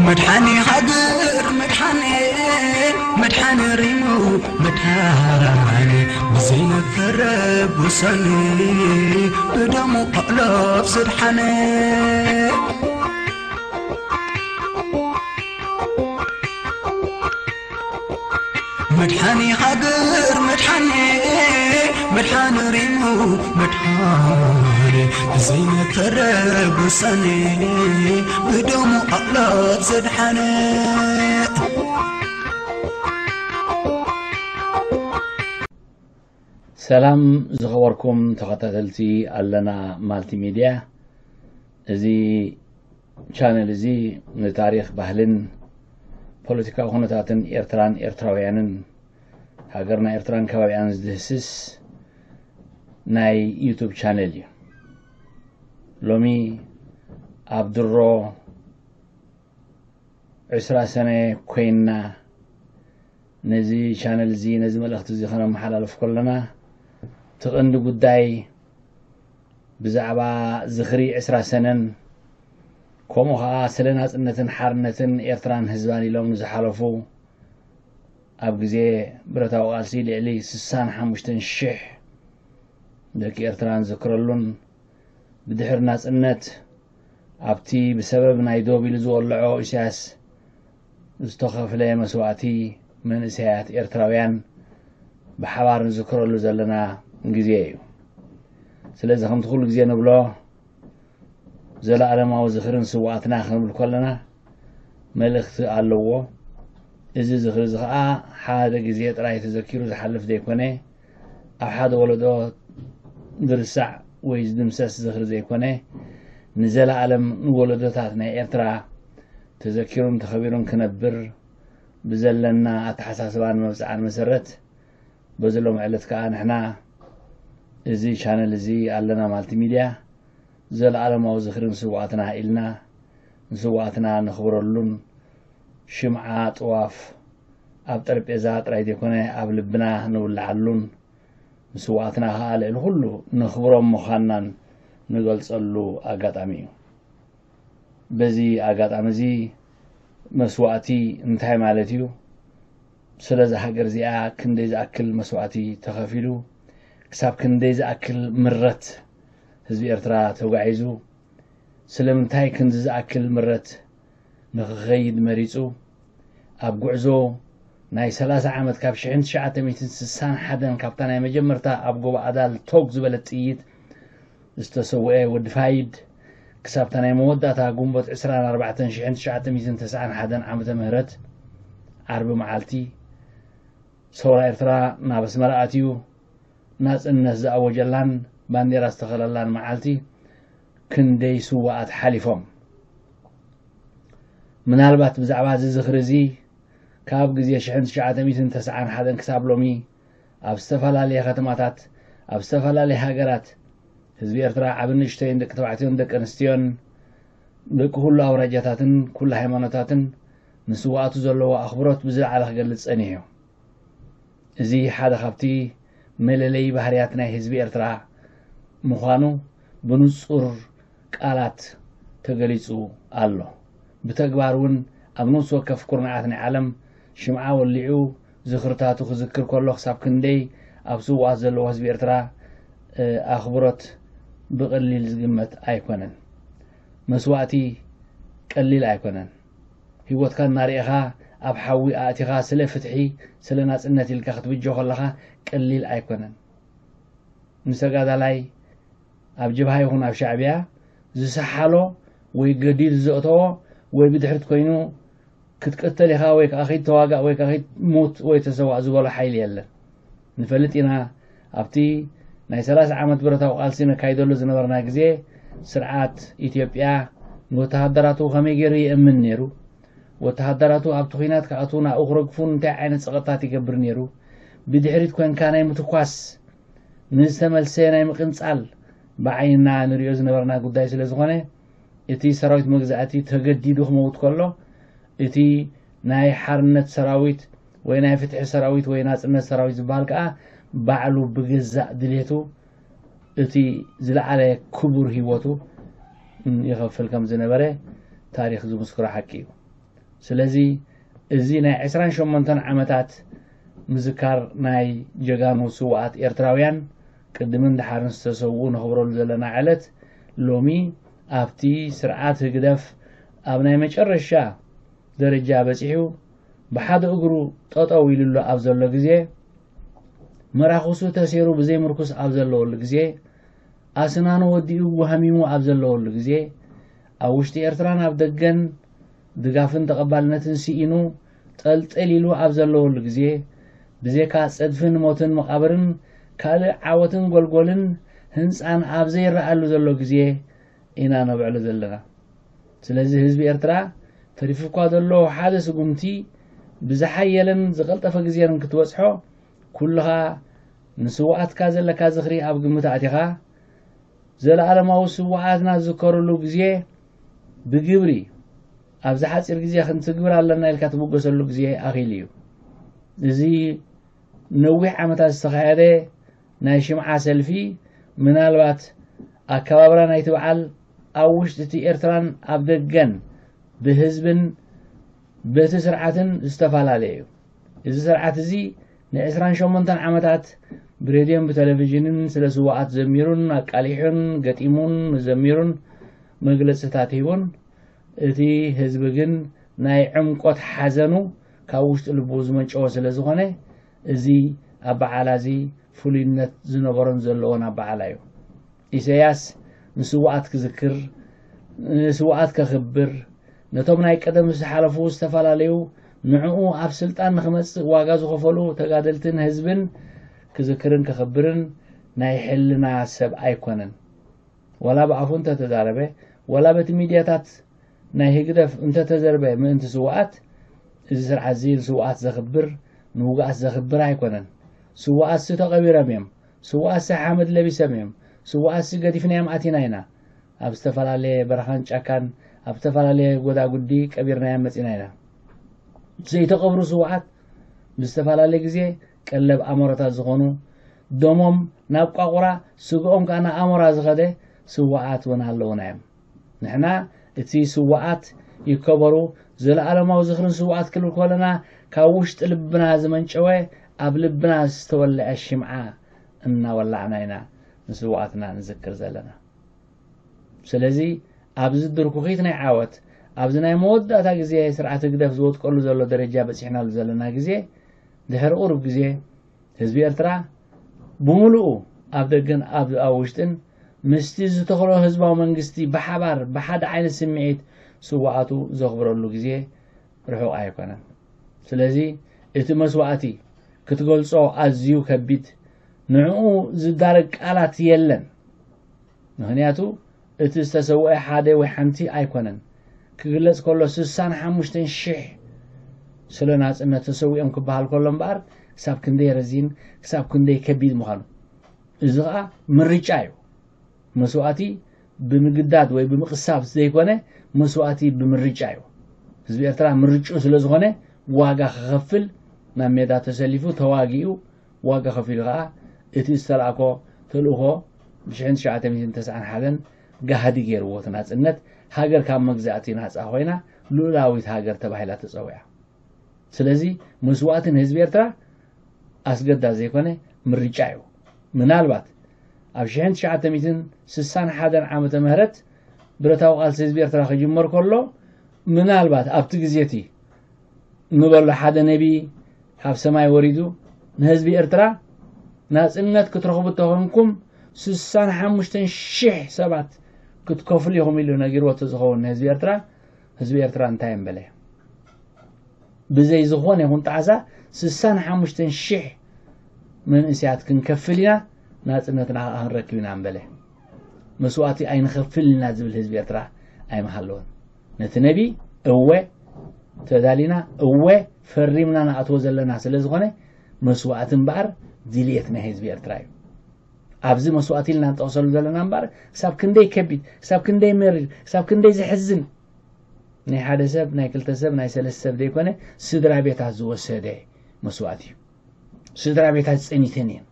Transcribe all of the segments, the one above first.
መድሓኒ ሃገር መድሓኒ፣ መድሓኒ ሪሙ መድሓኒ፣ ብዘይነፈረ ውሳኔ ብደሙ ኣእላፍ ዘድሓነ። መድሓኒ ሃገር መድሓኒ፣ መድሓኒ ሪሙ መድሓኒ፣ ብዘይነፈረ ውሳኔ ብደሙ ኣእላፍ ዘድሓነ። ሰላም ዝኸበርኩም ተኸታተልቲ ኣለና ማልቲሚድያ። እዚ ቻነል እዚ ንታሪኽ፣ ባህልን ፖለቲካዊ ኩነታትን ኤርትራን ኤርትራውያንን፣ ሃገርና ኤርትራን ከባቢኣን ዝድህስስ ናይ ዩቱብ ቻነል እዩ። ሎሚ ኣብ ድሮ ዕስራ ሰነ ኮይንና ነዚ ቻነል እዚ፣ ነዚ መልእኽቲ እዚ ከነመሓላልፍ ከለና፣ እቲ ቀንዲ ጉዳይ ብዛዕባ ዝኽሪ ዕስራ ሰነን፣ ከምኡ ኸዓ ስለ ናጽነትን ሓርነትን ኤርትራን ህዝባን ኢሎም ንዝሓለፉ፣ ኣብ ግዜ ብረታዊ ቃልሲ ልዕሊ ስሳን ሓሙሽተን ሽሕ ደቂ ኤርትራ ንዝክረሉን፣ ብድሕሪ ናጽነት ኣብቲ ብሰበብ ናይ ዶብ ኢሉ ዝወልዖ ኢሳያስ ዝተኸፍለ መስዋእቲ መንእሰያት ኤርትራውያን ብሓባር ንዝክረሉ ዘለና ግዜ እዩ። ስለዚ ከምቲ ኩሉ ግዜ ንብሎ፣ ዘለኣለማዊ ዝኽርን ስውኣትና ክንብል ከለና መልእኽቲ ኣለዎ። እዚ ዝኽሪ እዚ ኸኣ ሓደ ግዜ ጥራይ ተዘኪሩ ዝሓልፍ ዘይኮነ፣ ኣብ ሓደ ወለዶ ዝርሳዕ ወይ ዝድምሰስ ዝኽሪ ዘይኮነ፣ ንዘለኣለም ንወለዶታት ናይ ኤርትራ ተዘኪሩን ተኸቢሩን ክነብር ብዘለና ኣተሓሳስባን መብጽዓን መሰረት፣ በዚ ሎሚ ዕለት ከኣ ንሕና እዚ ቻነል እዚ ኣለና ማልቲ ሚድያ ዘለኣለማዊ ዝኽሪ ንስውኣትና ኢልና ንስውኣትና ነኽብረሉን ሽምዓ ጥዋፍ ኣብ ጠረጴዛ ጥራይ ዘይኮነ ኣብ ልብና ንውልዓሉን ንስውኣትና ከኣ ልዕሊ ኩሉ ነኽብሮም ምዃንናን ንገልጸሉ ኣጋጣሚ እዩ። በዚ ኣጋጣሚ እዚ መስዋእቲ እንታይ ማለት እዩ? ስለዛ ሃገር እዚኣ ክንደይ ዝኣክል መስዋእቲ ተኸፊሉ? ክሳብ ክንደይ ዝኣክል ምረት ህዝቢ ኤርትራ ተጓዒዙ? ስለምንታይ ክንዚ ዝኣክል ምረት ንኽኸይድ መሪጹ? ኣብ ጉዕዞ ናይ ሰላሳ ዓመት፣ ካብ ሽሕን ትሽዓተ ሚእትን ስሳን ሓደን ካብታ ናይ መጀመርታ ኣብ ጎቦ ኣዳል ቶግ ዝበለት ጥይት ዝተሰውአ ወዲ ፋይድ፣ ክሳብታ ናይ መወዳእታ ግንቦት ዕስራን ኣርባዕተን ሽሕን ትሽዓተ ሚእትን ተስዓን ሓደን ዓመተ ምህረት ዓርቢ መዓልቲ፣ ሰውራ ኤርትራ ናብ ኣስመራ ኣትዩ፣ ናጽነት ዝኣወጀላን ባንዴራ ዝተኸለላን መዓልቲ፣ ክንደይ ስውኣት ሓሊፎም። ምናልባት ብዛዕባ እዚ ዝኽሪ እዚ፣ ካብ ግዜ ሽሕን ትሽዓተ ሚእትን ተስዓን ሓደን ክሳብ ሎሚ፣ ኣብ ዝተፈላለየ ከተማታት፣ ኣብ ዝተፈላለየ ሃገራት፣ ህዝቢ ኤርትራ ዓቢ ንእሽተይን ደቂ ተባዕትዮን ደቂ ኣንስትዮን፣ ደቂ ኩሉ ኣውራጃታትን ኩሉ ሃይማኖታትን ንስውኣቱ ዘለዎ ኣኽብሮት ብዝለዓለ ክገልጽ ጸኒሑ እዩ። እዚ ሓደ ካብቲ መለለዪ ባህርያት ናይ ህዝቢ ኤርትራ ምዃኑ ብንጹር ቃላት ተገሊጹ ኣሎ። ብተግባር እውን ኣብ ነፍሲ ወከፍ ኩርናዓት ናይ ዓለም ሽምዓ ወሊዑ ዝኽርታቱ ክዝክር ከሎ፣ ክሳብ ክንደይ ኣብ ስውኣት ዘለዎ ህዝቢ ኤርትራ፣ እ፣ ኣኽብሮት ብቐሊል ዝግመት ኣይኮነን። መስዋእቲ ቀሊል ኣይኮነን። ህይወትካ እናርኤኻ ኣብ ሓዊ ኣእቲኻ ስለ ፍትሒ፣ ስለ ናጽነት ኢልካ ክትብጆ ከለኻ ቀሊል ኣይኮነን። ንተጋዳላይ ኣብ ጀብሃ ይኹን ኣብ ሻዕብያ ዝሰሓሎ ወይ ገዲዱ ዘእተዎ ወይ ብድሕሪት ኮይኑ ክትቅተል ኢኻ ወይ ከኣ ኸይድ ተዋጋእ ወይ ከኣ ኸይድ ሙት ወይ ተሰዋእ ዝበሎ ሓይሊ የለን። ንፈልጥ ኢና፣ ኣብቲ ናይ ሰላሳ ዓመት ብረታዊ ቃልሲ ነካይደሉ ዝነበርና ግዜ፣ ስርዓት ኢትዮጵያ ንወተሃደራቱ ከመይ ገይሩ የእምን ነይሩ? ወተሃደራቱ ኣብቲ ኲናት ክኣትዉ ናብኡ ክረግፉ እንታይ ዓይነት ጸቕጥታት ይገብር ነይሩ? ብድሕሪት ኮንካ ናይ ምትኳስ ንዝተመልሰ ናይ ምቕንጻል ብዓይንና ንሪኦ ዝነበርና ጉዳይ ስለ ዝኾነ፣ እቲ ሰራዊት መግዛእቲ ተገዲዱ ክመውት ከሎ፣ እቲ ናይ ሓርነት ሰራዊት ወይ ናይ ፍትሒ ሰራዊት ወይ ናጽነት ሰራዊት ዝበሃል ከኣ ባዕሉ ብገዛእ ድሌቱ እቲ ዝለዓለ ክቡር ህይወቱ ይኸፍል ከም ዝነበረ ታሪኽ ዝምስክሮ ሓቂ እዩ። ስለዚ እዚ ናይ ዕስራን ሸሞንተን ዓመታት ምዝካር ናይ ጀጋኑ ስውኣት ኤርትራውያን ቅድምን ድሓርን ዝተሰውኡ ነኽብረሉ ዘለና ዕለት ሎሚ ኣብቲ ስርዓት ህግደፍ ኣብ ናይ መጨረሻ ደረጃ በጺሑ ብሓደ እግሩ ጠጠው ኢሉሉ ኣብ ዘሎ ግዜ፣ መራኽሱ ተሴሩ ብዘይ ምርኩስ ኣብ ዘለወሉ ግዜ፣ ኣስናኑ ወዲኡ ወሃሚሙ ኣብ ዘለወሉ ግዜ፣ ኣብ ውሽጢ ኤርትራን ኣብ ደገን ድጋፍን ተቐባልነትን ስኢኑ ጠልጠል ኢሉ ኣብ ዘለወሉ ግዜ፣ ብዘይካ ጸድፍን ሞትን መቓብርን ካልእ ዓወትን ጎልጎልን ህንጻን ኣብ ዘይረኣሉ ዘሎ ግዜ ኢና ነብዕሎ ዘለና። ስለዚ ህዝቢ ኤርትራ ተሪፉ እኳ ዘሎ ሓደ ስጉምቲ ብዝሓየለን ዝቐልጠፈ ግዜን ክትበጽሖ፣ ኩልኻ ንስውኣትካ ዘለካ ዝኽሪ ኣብ ግምት ኣእቲኻ፣ ዘለኣለማዊ ስውኣትና ዝዝከረሉ ግዜ ብግብሪ ኣብዚ ሓጺር ግዜ ክንትግብር ኣለና ኢልካ ትብገሰሉ ግዜ ኣኺሉ እዩ። እዚ ነዊሕ ዓመታት ዝተኻየደ ናይ ሽምዓ ሰልፊ፣ ምናልባት ኣከባብራ ናይቲ በዓል ኣብ ውሽጢ እቲ ኤርትራን ኣብ ደገን ብህዝብን በቲ ስርዓትን ዝተፈላለየ እዩ። እዚ ስርዓት እዚ ንዕስራን ሸሞንተን ዓመታት ብሬድዮን ብቴሌቪዥንን ስለ ስውኣት ዘሚሩን ኣቃሊሑን ገጢሙን ዘሚሩን መግለጽታት ሂቡን፣ እቲ ህዝቢ ግን ናይ ዕምቆት ሓዘኑ ካብ ውሽጢ ልቡ ዝመንጨወ ስለ ዝኾነ፣ እዚ ኣበዓላ እዚ ፍሉይነት ዝነበሮን ዘለዎን ኣበዓላ እዩ። ኢሳያስ ንስውኣት ክዝክር፣ ንስውኣት ከኽብር፣ ነቶም ናይ ቀደም ዝሓለፉ ዝተፈላለዩ ንዕኡ ኣብ ስልጣን ንኽመጽእ ዋጋ ዝኸፈሉ ተጋደልትን ህዝብን ክዝክርን ከኽብርን ናይ ሕልና ሰብ ኣይኮነን። ዋላ ብኣፉ እንተተዛረበ፣ ዋላ በቲ ሚድያታት ናይ ህግደፍ እንተተዘርበ ምእንቲ ስውኣት፣ እዚ ስርዓት እዚ ንስውኣት ዘኽብር፣ ንውጉኣት ዘኽብር ኣይኮነን። ስውኣትሲ ተቐቢሮም እዮም። ስውኣትሲ ሓመድ ለቢሶም እዮም። ስውኣትሲ ገዲፍናዮም ኣቲና ኢና። ኣብ ዝተፈላለየ በረኻን ጫካን፣ ኣብ ዝተፈላለየ ጎዳጉዲ ቀቢርናዮም መጺና ኢና። ዘይተቐብሩ ስውኣት ብዝተፈላለየ ግዜ ቀለብ ኣሞራታት ዝኾኑ፣ ደሞም ናብ ቋቑራ፣ ስግኦም ከኣ ናብ ኣሞራ ዝኸደ ስውኣት እውን ኣለዉና እዮም። ንሕና እቲ ስውኣት ይከበሩ፣ ዘለኣለማዊ ዝኽርን ስውኣት ክብል ከለና ካብ ውሽጢ ልብና ዝመንጨወ ኣብ ልብና ዝተወልዐ ሽምዓ እናወላዕና ኢና ንስውኣትና ንዝክር ዘለና። ስለዚ ኣብዚ ድርኩኺት ናይ ዓወት፣ ኣብዚ ናይ መወዳእታ ግዜ ስርዓት ህግደፍ ዝወድቀሉ ዘሎ ደረጃ በጺሕናሉ ዘለና ግዜ፣ ድሕሪ ቁሩብ ግዜ ህዝቢ ኤርትራ ብምሉኡ ኣብ ደገን ኣብ ኣብ ውሽጥን ምስቲ ዝተኽሎ ህዝባዊ መንግስቲ ብሓባር ብሓደ ዓይነት ስምዒት ስውኣቱ ዘኽብረሉ ግዜ ርሑቕ ኣይኮነን። ስለዚ እቲ መስዋእቲ ክትገልጾ ኣዝዩ ከቢድ፣ ንዕኡ ዝዳረግ ቃላት የለን። ምኽንያቱ እቲ ዝተሰውአ ሓደ ወይ ሓንቲ ኣይኮነን። ክግለጽ ከሎ ስሳን ሓሙሽተን ሽሕ ስለ ናጽነት ተሰዊኦም ክበሃል ከሎ እምበኣር ክሳብ ክንደይ ረዚን፣ ክሳብ ክንደይ ከቢድ ምዃኑ። እዚ ኸኣ ምርጫ እዩ። መስዋእቲ ብምግዳድ ወይ ብምቕሳብ ዘይኮነ፣ መስዋእቲ ብምርጫ እዩ። ህዝቢ ኤርትራ ምርጭኡ ስለ ዝኾነ ዋጋ ክኸፍል ናብ ሜዳ ተሰሊፉ ተዋጊኡ ዋጋ ከፊሉ ኸኣ እቲ ዝተላእኮ ተልእኾ ብሽሕን ትሽዓተ ሚእትን ተስዓን ሓደን ጋህዲ ገይርዎ እቲ ናጽነት፣ ሃገር ካብ መግዛእቲ ናጻ ኮይና ልኡላዊት ሃገር ተባሂላ ተጸዊዓ። ስለዚ መስዋእቲ ንህዝቢ ኤርትራ ኣስገዳድ ዘይኮነ ምርጫ እዩ። ምናልባት ኣብ ሽሕን ትሽዓተ ሚእትን ስሳን ሓደን ዓመተ ምህረት ብረታዊ ቃልሲ ህዝቢ ኤርትራ ክጅመር ከሎ፣ ምናልባት ኣብቲ ግዜ እቲ ንበሎ ሓደ ነቢ ካብ ሰማይ ወሪዱ ንህዝቢ ኤርትራ ናጽነት ክትረኽቡ እንተኾንኩም ስሳን ሓሙሽተን ሽሕ ሰባት ክትከፍሉ ኢኹም ኢሉ ነጊርዎ እንተዝኸውን ንህዝቢ ኤርትራ፣ ህዝቢ ኤርትራ እንታይ እምበለ? ብዘይ ዝኾነ ይኹን ጣዕሳ ስሳን ሓሙሽተን ሽሕ መንእሰያት ክንከፍል ኢና፣ ናጽነትና ከኣ ክንረክብ ኢና እምበለ። መስዋእቲ ኣይንኸፍልን ኢና ዝብል ህዝቢ ኤርትራ ኣይምሃለወን። ነቲ ነቢ እወ ተዳሊና፣ እወ ፈሪምና ንኣትዎ ዘለና ስለ ዝኾነ መስዋእቲ እምበኣር ድልየት ናይ ህዝቢ ኤርትራ እዩ። ኣብዚ መስዋእቲ ኢልና ንጠቕሰሉ ዘለና እምበኣር፣ ክሳብ ክንደይ ከቢድ፣ ክሳብ ክንደይ መሪር፣ ክሳብ ክንደይ ዘሕዝን፣ ናይ ሓደ ሰብ፣ ናይ ክልተ ሰብ፣ ናይ ሰለስተ ሰብ ዘይኮነ፣ ስድራ ቤታት ዝወሰደ መስዋእቲ እዩ። ስድራ ቤታት ጸኒተን እየን፣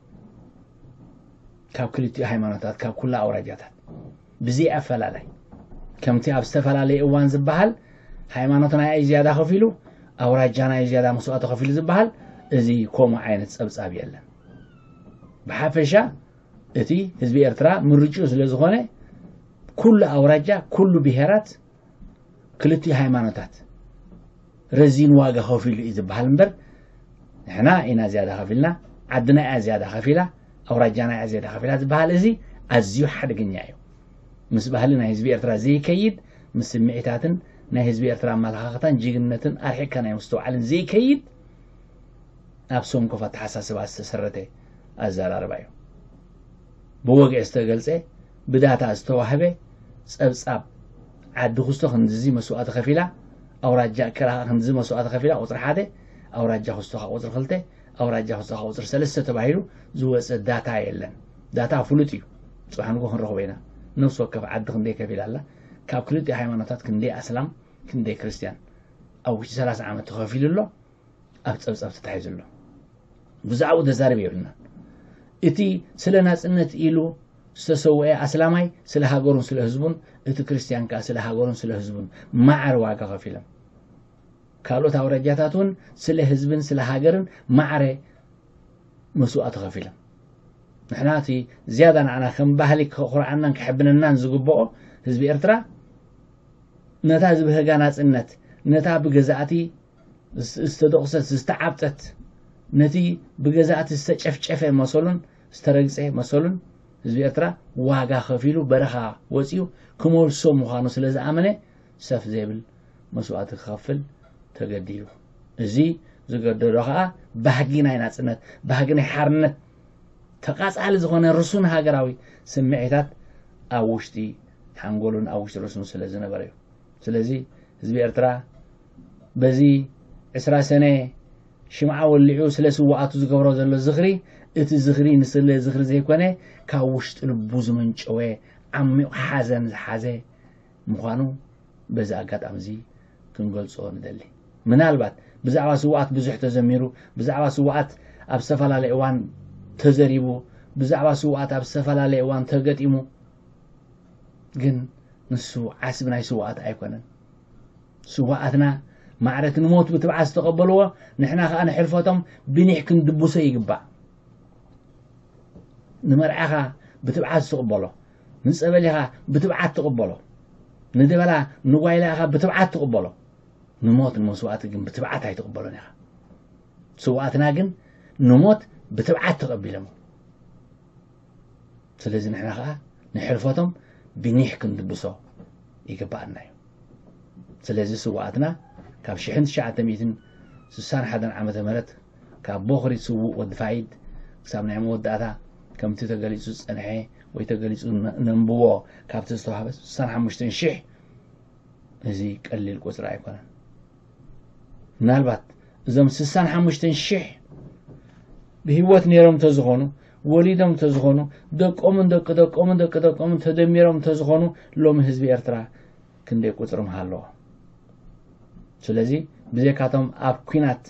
ካብ ክልቲኡ ሃይማኖታት፣ ካብ ኩላ ኣውራጃታት ብዘይ ኣፈላላይ። ከምቲ ኣብ ዝተፈላለየ እዋን ዝበሃል፣ ሃይማኖትና እዩ ዝያዳ ከፊሉ፣ ኣውራጃና እዩ ዝያዳ መስዋእቲ ከፊሉ ዝበሃል፣ እዚ ከምኡ ዓይነት ጸብጻብ የለን። ብሓፈሻ እቲ ህዝቢ ኤርትራ ምርጭኡ ስለ ዝኾነ፣ ኩሉ ኣውራጃ፣ ኩሉ ብሄራት፣ ክልቲኡ ሃይማኖታት ረዚን ዋጋ ከፊሉ እዩ ዝበሃል እምበር፣ ንሕና ኢና ዝያዳ ከፊልና፣ ዓድና እያ ዝያዳ ከፊላ፣ ኣውራጃና እያ ዝያዳ ከፊላ ዝበሃል፣ እዚ ኣዝዩ ሓደገኛ እዩ። ምስ ባህሊ ናይ ህዝቢ ኤርትራ ዘይከይድ፣ ምስ ስምዒታትን ናይ ህዝቢ ኤርትራ ኣመለኻኽታን ጅግንነትን ኣርሒቕካ ናይ ምስትውዓልን ዘይከይድ፣ ኣብ ሰንኮፍ ኣተሓሳስባ ዝተሰረተ ኣዘራርባ እዩ። ብወግዒ ዝተገልጸ፣ ብዳታ ዝተዋህበ ጸብጻብ፣ ዓዲ ኩስቶ ክንድዚ መስዋእቲ ከፊላ፣ ኣውራጃ እከላ ክንድዚ መስዋእቲ ከፊላ፣ ቁጽሪ ሓደ፣ ኣውራጃ ኩስቶ ከኣ ቁጽሪ ክልተ፣ ኣውራጃ ኩስቶ ከኣ ቁጽሪ ሰለስተ ተባሂሉ ዝወጸ ዳታ የለን። ዳታ ፍሉጥ እዩ። ጽባሕ ንግሆ ክንረኽቦ ኢና። ነፍሲ ወከፍ ዓዲ ክንደይ ከፊላ ኣላ፣ ካብ ክልቲኡ ሃይማኖታት ክንደይ ኣስላም፣ ክንደይ ክርስትያን ኣብ ውሽጢ ሰላሳ ዓመት ተኸፊሉ ኣሎ፣ ኣብ ጸብጻብ ተታሒዙ ኣሎ። ብዛዕባኡ ተዛረብ የብልናን። እቲ ስለ ናጽነት ኢሉ ዝተሰውአ ኣስላማይ ስለ ሃገሩን ስለ ህዝቡን፣ እቲ ክርስትያን ከኣ ስለ ሃገሩን ስለ ህዝቡን ማዕረ ዋጋ ከፊሎም። ካልኦት ኣውራጃታት እውን ስለ ህዝብን ስለ ሃገርን ማዕረ መስዋእቲ ከፊሎም። ንሕና እቲ ዝያዳ ንዓና ከም ባህሊ ከኹርዓናን ከሕብነናን ዝግብኦ ህዝቢ ኤርትራ፣ ነታ ዝብህጋ ናጽነት፣ ነታ ብገዛእቲ ዝ-፣ ዝተደቑሰት፣ ዝተዓብጠት፣ ነቲ ብገዛእቲ ዝተጨፍጨፈ መሰሉን ዝተረግጸ መሰሉን ህዝቢ ኤርትራ ዋጋ ከፊሉ በረኻ ወጺኡ ክመልሶ ምዃኑ ስለ ዝኣመነ ሰፍ ዘይብል መስዋእቲ ክኸፍል ተገዲዱ። እዚ ዝገደዶ ከኣ ባህጊ ናይ ናጽነት፣ ባህጊ ናይ ሓርነት፣ ተቓጻሊ ዝኾነ ርሱን ሃገራዊ ስምዒታት ኣብ ውሽጢ ሓንጎሉን ኣብ ውሽጢ ርእሱን ስለ ዝነበረ እዩ። ስለዚ ህዝቢ ኤርትራ በዚ ዕስራ ሰነ ሽምዓ ወሊዑ ስለ ስውኣቱ ዝገብሮ ዘሎ ዝኽሪ፣ እቲ ዝኽሪ ንስለ ዝኽሪ ዘይኮነ፣ ካብ ውሽጢ ልቡ ዝመንጨወ ዓሚቕ ሓዘን ዝሓዘ ምዃኑ በዚ ኣጋጣሚ እዚ ክንገልጾ ንደሊ። ምናልባት ብዛዕባ ስውኣት ብዙሕ ተዘሚሩ፣ ብዛዕባ ስውኣት ኣብ ዝተፈላለየ እዋን ተዘሪቡ፣ ብዛዕባ ስውኣት ኣብ ዝተፈላለየ እዋን ተገጢሙ፣ ግን ንሱ ዓስቢ ናይ ስውኣት ኣይኮነን። ስውኣትና ማዕረ እቲ ንሞት ብትብዓት ዝተቐበልዎ፣ ንሕና ከኣ ንሕልፈቶም ብኒሕ ክንድብሶ ይግባእ። ንመርዓኻ ብትብዓት ትቕበሎ፣ ንጸበሊኻ ብትብዓት ትቕበሎ፣ ንደበላ ንጓይላኻ ብትብዓት ትቕበሎ። ንሞት ንመስዋእቲ ግን ብትብዓት ኣይትቕበሎን ኢኻ። ስውኣትና ግን ንሞት ብትብዓት ተቐቢሎም። ስለዚ ንሕና ኸኣ ንሕልፈቶም ብኒሕ ክንድብሶ ይግባኣና እዩ። ስለዚ ስውኣትና ካብ ሽሕን ትሽዓተ ሚእትን ስሳን ሓደን ዓመተ ምህረት ካብ ቦኽሪ ስዉእ ወዲ ፋይድ ክሳብ ናይ መወዳእታ ከምቲ ተገሊጹ ዝጸንሐ ወይ ተገሊጹ ነ-፣ ነንብቦ ካብቲ ዝተዋህበ ስሳን ሓሙሽተን ሽሕ፣ እዚ ቀሊል ቁጽሪ ኣይኮነን። ምናልባት እዞም ስሳን ሓሙሽተን ሽሕ ብህይወት ነይሮም እንተዝኾኑ፣ ወሊዶም እንተዝኾኑ፣ ደቆምን ደቂ ደቆምን ደቂ ደቆምን ተደሚሮም እንተዝኾኑ፣ ሎሚ ህዝቢ ኤርትራ ክንደይ ቁጽሪ ምሃለዎ? ስለዚ ብዘይካቶም ኣብ ኲናት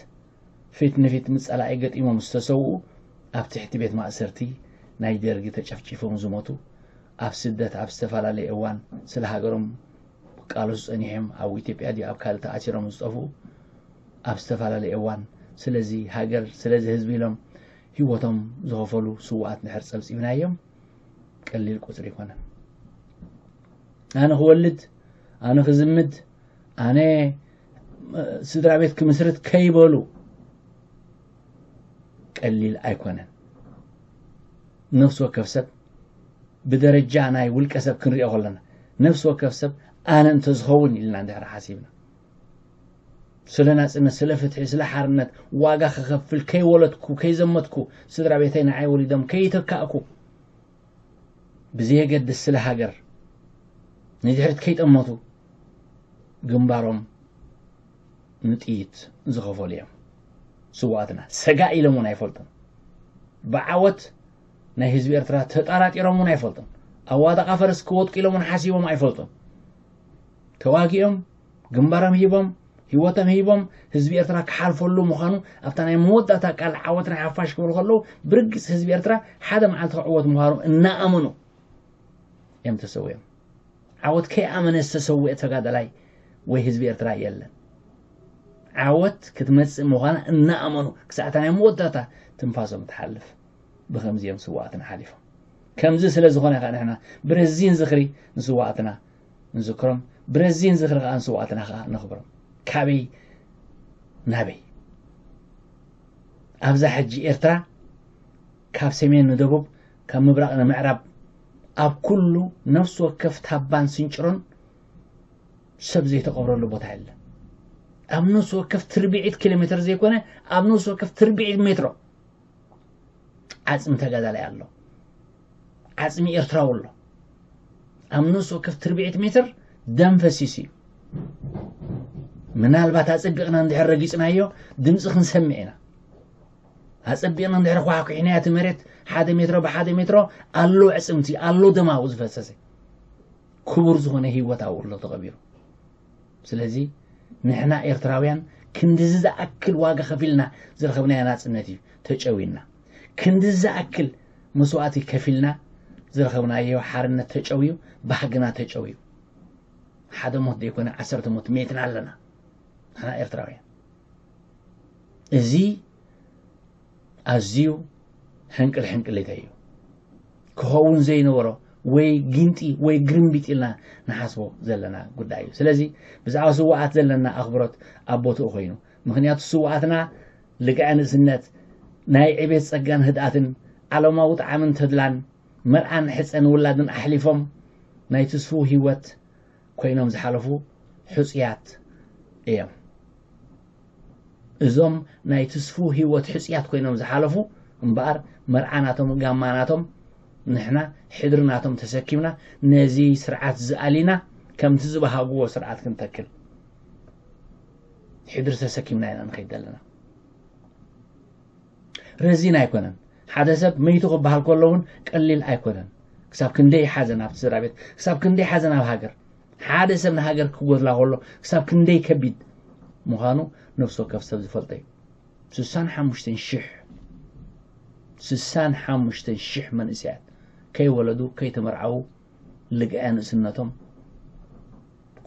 ፊት ንፊት ምስ ጸላኢ ገጢሞም ዝተሰውኡ፣ ኣብ ትሕቲ ቤት ማእሰርቲ ናይ ደርጊ ተጨፍጪፎም ዝሞቱ፣ ኣብ ስደት ኣብ ዝተፈላለየ እዋን ስለ ሃገሮም ክቃለሱ ጸኒሖም፣ ኣብ ኢትዮጵያ ድዩ ኣብ ካልእ ተኣሲሮም ዝጠፍኡ፣ ኣብ ዝተፈላለየ እዋን ስለዚ ሃገር፣ ስለዚ ህዝቢ ኢሎም ህይወቶም ዝኸፈሉ ስውኣት እንድሕር ጸብጺብናዮም፣ ቀሊል ቁጽሪ ኣይኮነን። ኣነ ክወልድ፣ ኣነ ክዝምድ፣ ኣነ፣ እ፣ ስድራ ቤት ክምስርት ከይበሉ ቀሊል ኣይኮነን። ነፍሲ ወከፍ ሰብ ብደረጃ ናይ ውልቀ ሰብ ክንሪኦ ከለና፣ ነፍሲ ወከፍ ሰብ ኣነ እንተዝኸውን ኢልና እንድሕር ሓሲብና፣ ስለ ናጽነት፣ ስለ ፍትሒ፣ ስለ ሓርነት ዋጋ ክኸፍል፣ ከይወለድኩ፣ ከይዘመትኩ፣ ስድራ ቤተይ ንዓይ ወሊዶም ከይተካእኩ፣ ብዘየገድስ ስለ ሃገር ንድሕሪት ከይጠመቱ ግንባሮም ንጥይት ዝኸፈሉ እዮም። ስውኣትና ሰጋእ ኢሎም እውን ኣይፈልጡን። ብዓወት ናይ ህዝቢ ኤርትራ ተጣራጢሮም እውን ኣይፈልጡን። ኣብ ዋጣ ቃፈርስ ክወድቁ ኢሎም እውን ሓሲቦም ኣይፈልጡን። ተዋጊኦም፣ ግንባሮም ሂቦም፣ ህይወቶም ሂቦም ህዝቢ ኤርትራ ክሓልፈሉ ምዃኑ ኣብታ ናይ መወዳእታ ቃል ዓወት ናይ ሓፋሽ ክብሉ ከለዉ፣ ብርግጽ ህዝቢ ኤርትራ ሓደ መዓልቲ ክዕወት ምዃኑ እናኣመኑ እዮም ተሰዊኦም። ዓወት ከይኣመነ ዝተሰውአ ተጋዳላይ ወይ ህዝቢ ኤርትራ የለን። ዓወት ክትመጽእ ምዃና እናኣመኑ ክሳዕ እታ ናይ መወዳእታ ትንፋሶም ትሓልፍ። ብኸምዚ እዮም ስውኣትና ሓሊፎም። ከምዚ ስለ ዝኾነ ከዓ ንሕና ብረዚን ዝኽሪ ንስውኣትና ንዝክሮም፣ ብረዚን ዝኽሪ ከዓ ንስውኣትና ከዓ ነኽብሮም። ካበይ ናበይ? ኣብዛ ሕጂ ኤርትራ ካብ ሰሜን ንደቡብ፣ ካብ ምብራቕ ንምዕራብ፣ ኣብ ኩሉ ነፍሲ ወከፍ ታባን ስንጭሮን ሰብ ዘይተቐብረሉ ቦታ የለን። ኣብ ነፍሲ ወከፍ ትርብዒት ኪሎ ሜትር ዘይኮነ፣ ኣብ ነፍሲ ወከፍ ትርብዒት ሜትሮ ዓጽሚ ተጋዳላይ ኣሎ። ዓጽሚ ኤርትራዊ ኣሎ። ኣብ ነፍሲ ወከፍ ትርብዒት ሜትር ደም ፈሲሱ እዩ። ምናልባት ኣጸቢቕና እንድሕር ረጊጽናዮ ድምጺ ክንሰምዕ ኢና። ኣጸቢቕና እንድሕር ኳሕኩሒናዮ እቲ መሬት ሓደ ሜትሮ ብሓደ ሜትሮ ኣሎ ኣዕጽምቲ፣ ኣሎ ደም ኣብኡ ዝፈሰሰ። ክቡር ዝኾነ ህይወት ኣብኡ ኣሎ ተቐቢሩ። ስለዚ ንሕና ኤርትራውያን ክንድዚ ዝኣክል ዋጋ ከፊልና ዝረኸብናዮ ናጽነት እዩ ተጨውዩና። ክንድዚ ዝኣክል መስዋእቲ ከፊልና ዝረኸብናዮ ሓርነት ተጨውዩ፣ ባህግና ተጨውዩ። ሓደ ሞት ዘይኮነ ዓሰርተ ሞት ሜትና ኣለና ንሕና ኤርትራውያን። እዚ ኣዝዩ ሕንቅል ሕንቅሊተይ እዩ። ክኸውን ዘይነበሮ ወይ ጊንጢ ወይ ግርምቢጥ ኢልና ንሓስቦ ዘለና ጉዳይ እዩ። ስለዚ ብዛዕባ ስውኣት ዘለና ኣኽብሮት ኣብ ቦትኡ ኮይኑ፣ ምኽንያቱ ስውኣትና ልግዐ ንእስነት፣ ናይ ዕቤት ጸጋን ህድኣትን፣ ዓለማዊ ጣዕምን ተድላን፣ መርዓን ሕጸን ውላድን ኣሕሊፎም ናይ ትስፉው ህይወት ኮይኖም ዝሓለፉ ሕጹያት እዮም። እዞም ናይ ትስፉው ህይወት ሕጹያት ኮይኖም ዝሓለፉ እምበኣር፣ መርዓ ናቶም፣ ጋማ ናቶም፣ ንሕና ሕድሪ ናቶም ተሰኪምና ነዚ ስርዓት ዝኣሊና ከምቲ ዝበሃግዎ ስርዓት ክንተክል ሕድሪ ተሰኪምና ኢና ንኸይድ ዘለና። ረዚን ኣይኮነን። ሓደ ሰብ መይቱ ክበሃል ከሎ እውን ቀሊል ኣይኮነን። ክሳብ ክንደይ ሓዘን ኣብቲ ስድራ ቤት፣ ክሳብ ክንደይ ሓዘን ኣብ ሃገር። ሓደ ሰብ ንሃገር ክጎድላ ከሎ ክሳብ ክንደይ ከቢድ ምዃኑ ነፍሲ ወከፍ ሰብ ዝፈልጦ እዩ። ስሳን ሓሙሽተን ሽሕ፣ ስሳን ሓሙሽተን ሽሕ መንእሰያት ከይወለዱ፣ ከይተመርዓዉ፣ ልግዐ ንእስነቶም፣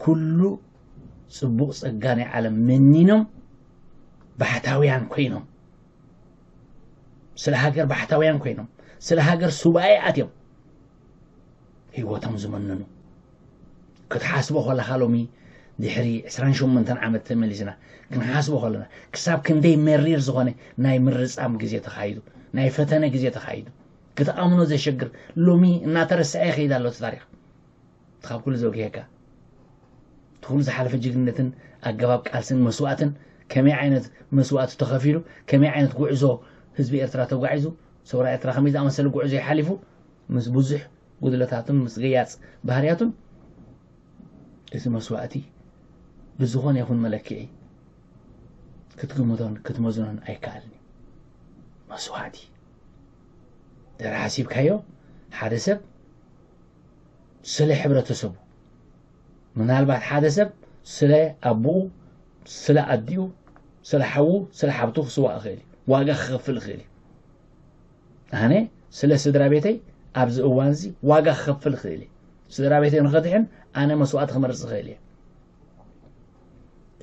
ኩሉ ጽቡቕ ጸጋ ናይ ዓለም መኒኖም፣ ባሕታውያን ኮይኖም፣ ስለ ሃገር ባሕታውያን ኮይኖም፣ ስለ ሃገር ሱባኤ ኣትዮም ህይወቶም ዝመነኑ። ክትሓስቦ ከለኻ ሎሚ ድሕሪ ዕስራን ሸሞንተን ዓመት ተመሊስና ክንሓስቦ ከለና፣ ክሳብ ክንደይ መሪር ዝኾነ ናይ ምርጻም ግዜ ተኻይዱ፣ ናይ ፈተነ ግዜ ተኻይዱ፣ ክትኣምኖ ዘሸግር፣ ሎሚ እናተረስዐ ይኸይድ ኣሎ እቲ ታሪኽ። እቲ ካብ ኩሉ ዘጉህየካ፣ እቲ ኩሉ ዝሓለፈ ጅግንነትን ኣገባብ ቃልስን መስዋእትን፣ ከመይ ዓይነት መስዋእቲ ተኸፊሉ፣ ከመይ ዓይነት ጉዕዞ ህዝቢ ኤርትራ ተጓዒዙ፣ ሰውራ ኤርትራ ከመይ ዝኣመሰለ ጉዕዞ ይሓሊፉ፣ ምስ ብዙሕ ጉድለታቱን ምስ ገያጽ ባህርያቱን፣ እቲ መስዋእቲ ብዝኾነ ይኹን መለክዒ ክትግምቶን ክትመዝኖን ኣይከኣልን እዩ። መስዋእቲ ድሕሪ ሓሲብካዮ፣ ሓደ ሰብ ስለ ሕብረተሰቡ፣ ምናልባት ሓደ ሰብ ስለ ኣቦኡ፣ ስለ ኣዲኡ፣ ስለ ሓዉ፣ ስለ ሓብቱ ክስዋእ ይኽእል እዩ። ዋጋ ክኸፍል ይኽእል እዩ። ኣነ ስለ ስድራ ቤተይ ኣብዚ እዋን እዚ ዋጋ ክኸፍል ይኽእል እየ። ስድራ ቤተይ ንኸድሕን ኣነ መስዋእቲ ክመርጽ ይኽእል እየ።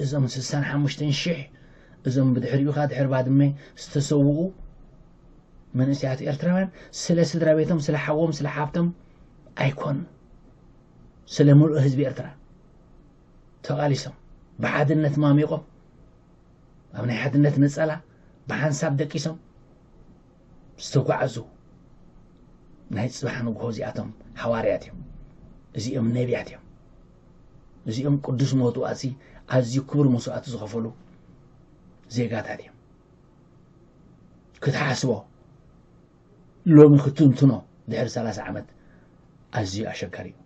እዞም ስሳን ሓሙሽተን ሽሕ፣ እዞም ብድሕሪኡ ኸኣ ድሕሪ ባድመ ዝተሰውኡ መንእሰያት ኤርትራውያን ስለ ስድራ ቤቶም፣ ስለ ሓዎም፣ ስለ ሓብቶም ኣይኮኑን። ስለ ምሉእ ህዝቢ ኤርትራ ተቓሊሶም፣ ብሓድነት ማሚቖም፣ ኣብ ናይ ሓድነት ነጸላ ብሓንሳብ ደቂሶም ዝተጓዕዙ ናይ ጽባሕ ንግሆ እዚኣቶም ሓዋርያት እዮም። እዚኦም ነቢያት እዮም። እዚኦም ቅዱስ መስዋእቲ፣ ኣዝዩ ክቡር መስዋእቲ ዝኸፈሉ ዜጋታት እዮም። ክትሓስቦ፣ ሎሚ ክትንትኖ ድሕሪ ሰላሳ ዓመት ኣዝዩ ኣሸጋሪ እዩ።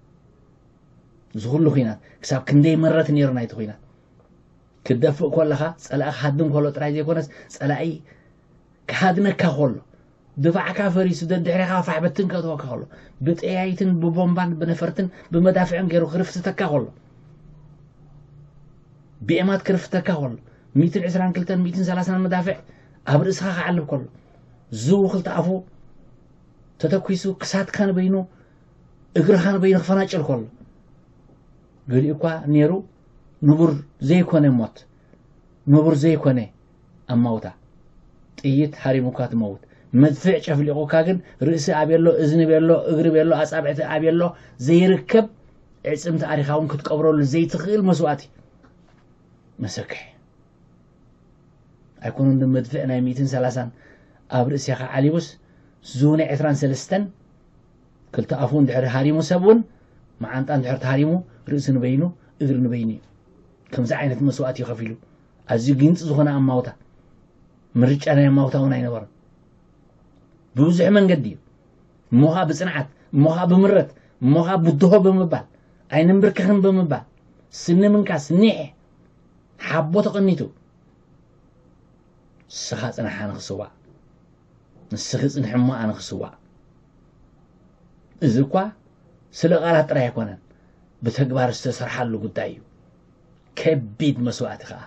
እዚ ኩሉ ኲናት ክሳብ ክንደይ መረት ነይሩ ናይቲ ኲናት። ክትደፍእ ከለኻ፣ ጸላኢ ክሃድም ከሎ ጥራይ ዘይኮነስ፣ ጸላኢ ክሃድነካ ከሎ፣ ድፋዕካ ፈሪሱ፣ ደድሕሬኻ ፋሕ በትን ከእትወካ ከሎ፣ ብጠያይትን ብቦምባን ብነፈርትን ብመዳፍዕን ገይሩ ክርፍትተካ ከሎ፣ ብኤማት ክርፍተካ ከሎ፣ ሚእትን ዕስራን ክልተን ሚእትን ሰላሳን መዳፍዕ ኣብ ርእስኻ ክዓልብ ከሎ፣ ዝው ክልተ ኣፉ ተተኲሱ ክሳድካ ንበይኑ እግርኻ ንበይኑ ክፈናጭል ከሎ፣ ገሊኡ እኳ ነይሩ ንቡር ዘይኮነ ሞት፣ ንቡር ዘይኮነ ኣማውታ። ጥይት ሃሪሙካ ትመውት። መድፍዕ ጨፍሊቑካ ግን ርእሲ ኣበሎ፣ እዝኒ በሎ፣ እግሪ በሎ፣ ኣጻብዕቲ ኣበሎ ዘይርከብ ዕጽምቲ ኣሪኻ እውን ክትቀብረሉ ዘይትኽእል መስዋእቲ። መሰክሕ ኣይኮኑን ዶ መድፍዕ ናይ ሚእትን ሰላሳን ኣብ ርእሲኻ ዓሊቡስ፣ ዝውነ ዕስራን ሰለስተን ክልተ ኣፉ እንድሕር ሃሪሙ ሰብ እውን መዓንጣ እንድሕር ተሃሪሙ ርእሲ ንበይኑ እግሪ ንበይኑ እዩ። ከምዚ ዓይነት መስዋእቲ እዩ ከፊሉ። ኣዝዩ ግንፂ ዝኾነ ኣማውታ፣ ምርጫ ናይ ኣማውታ እውን ኣይነበረን። ብብዙሕ መንገዲ እዩ። እሞ ኸዓ ብፅንዓት፣ እሞ ኸዓ ብምረት፣ እሞ ኸዓ ብድሆ ብምባል፣ ኣይንንብርክኽን ብምባል፣ ስኒ ምንካስ፣ ኒሕ፣ ሓቦ ተቐኒቱ፣ ንስኻ ፅናሕ ኣነ ክስዋእ፣ ንስኺ ፅንሒ እሞ ኣነ ክስዋእ። እዚ እኳ ስለ ቃላት ጥራይ ኣይኮነን፣ ብተግባር ዝተሰርሓሉ ጉዳይ እዩ። ከቢድ መስዋእቲ ኸዓ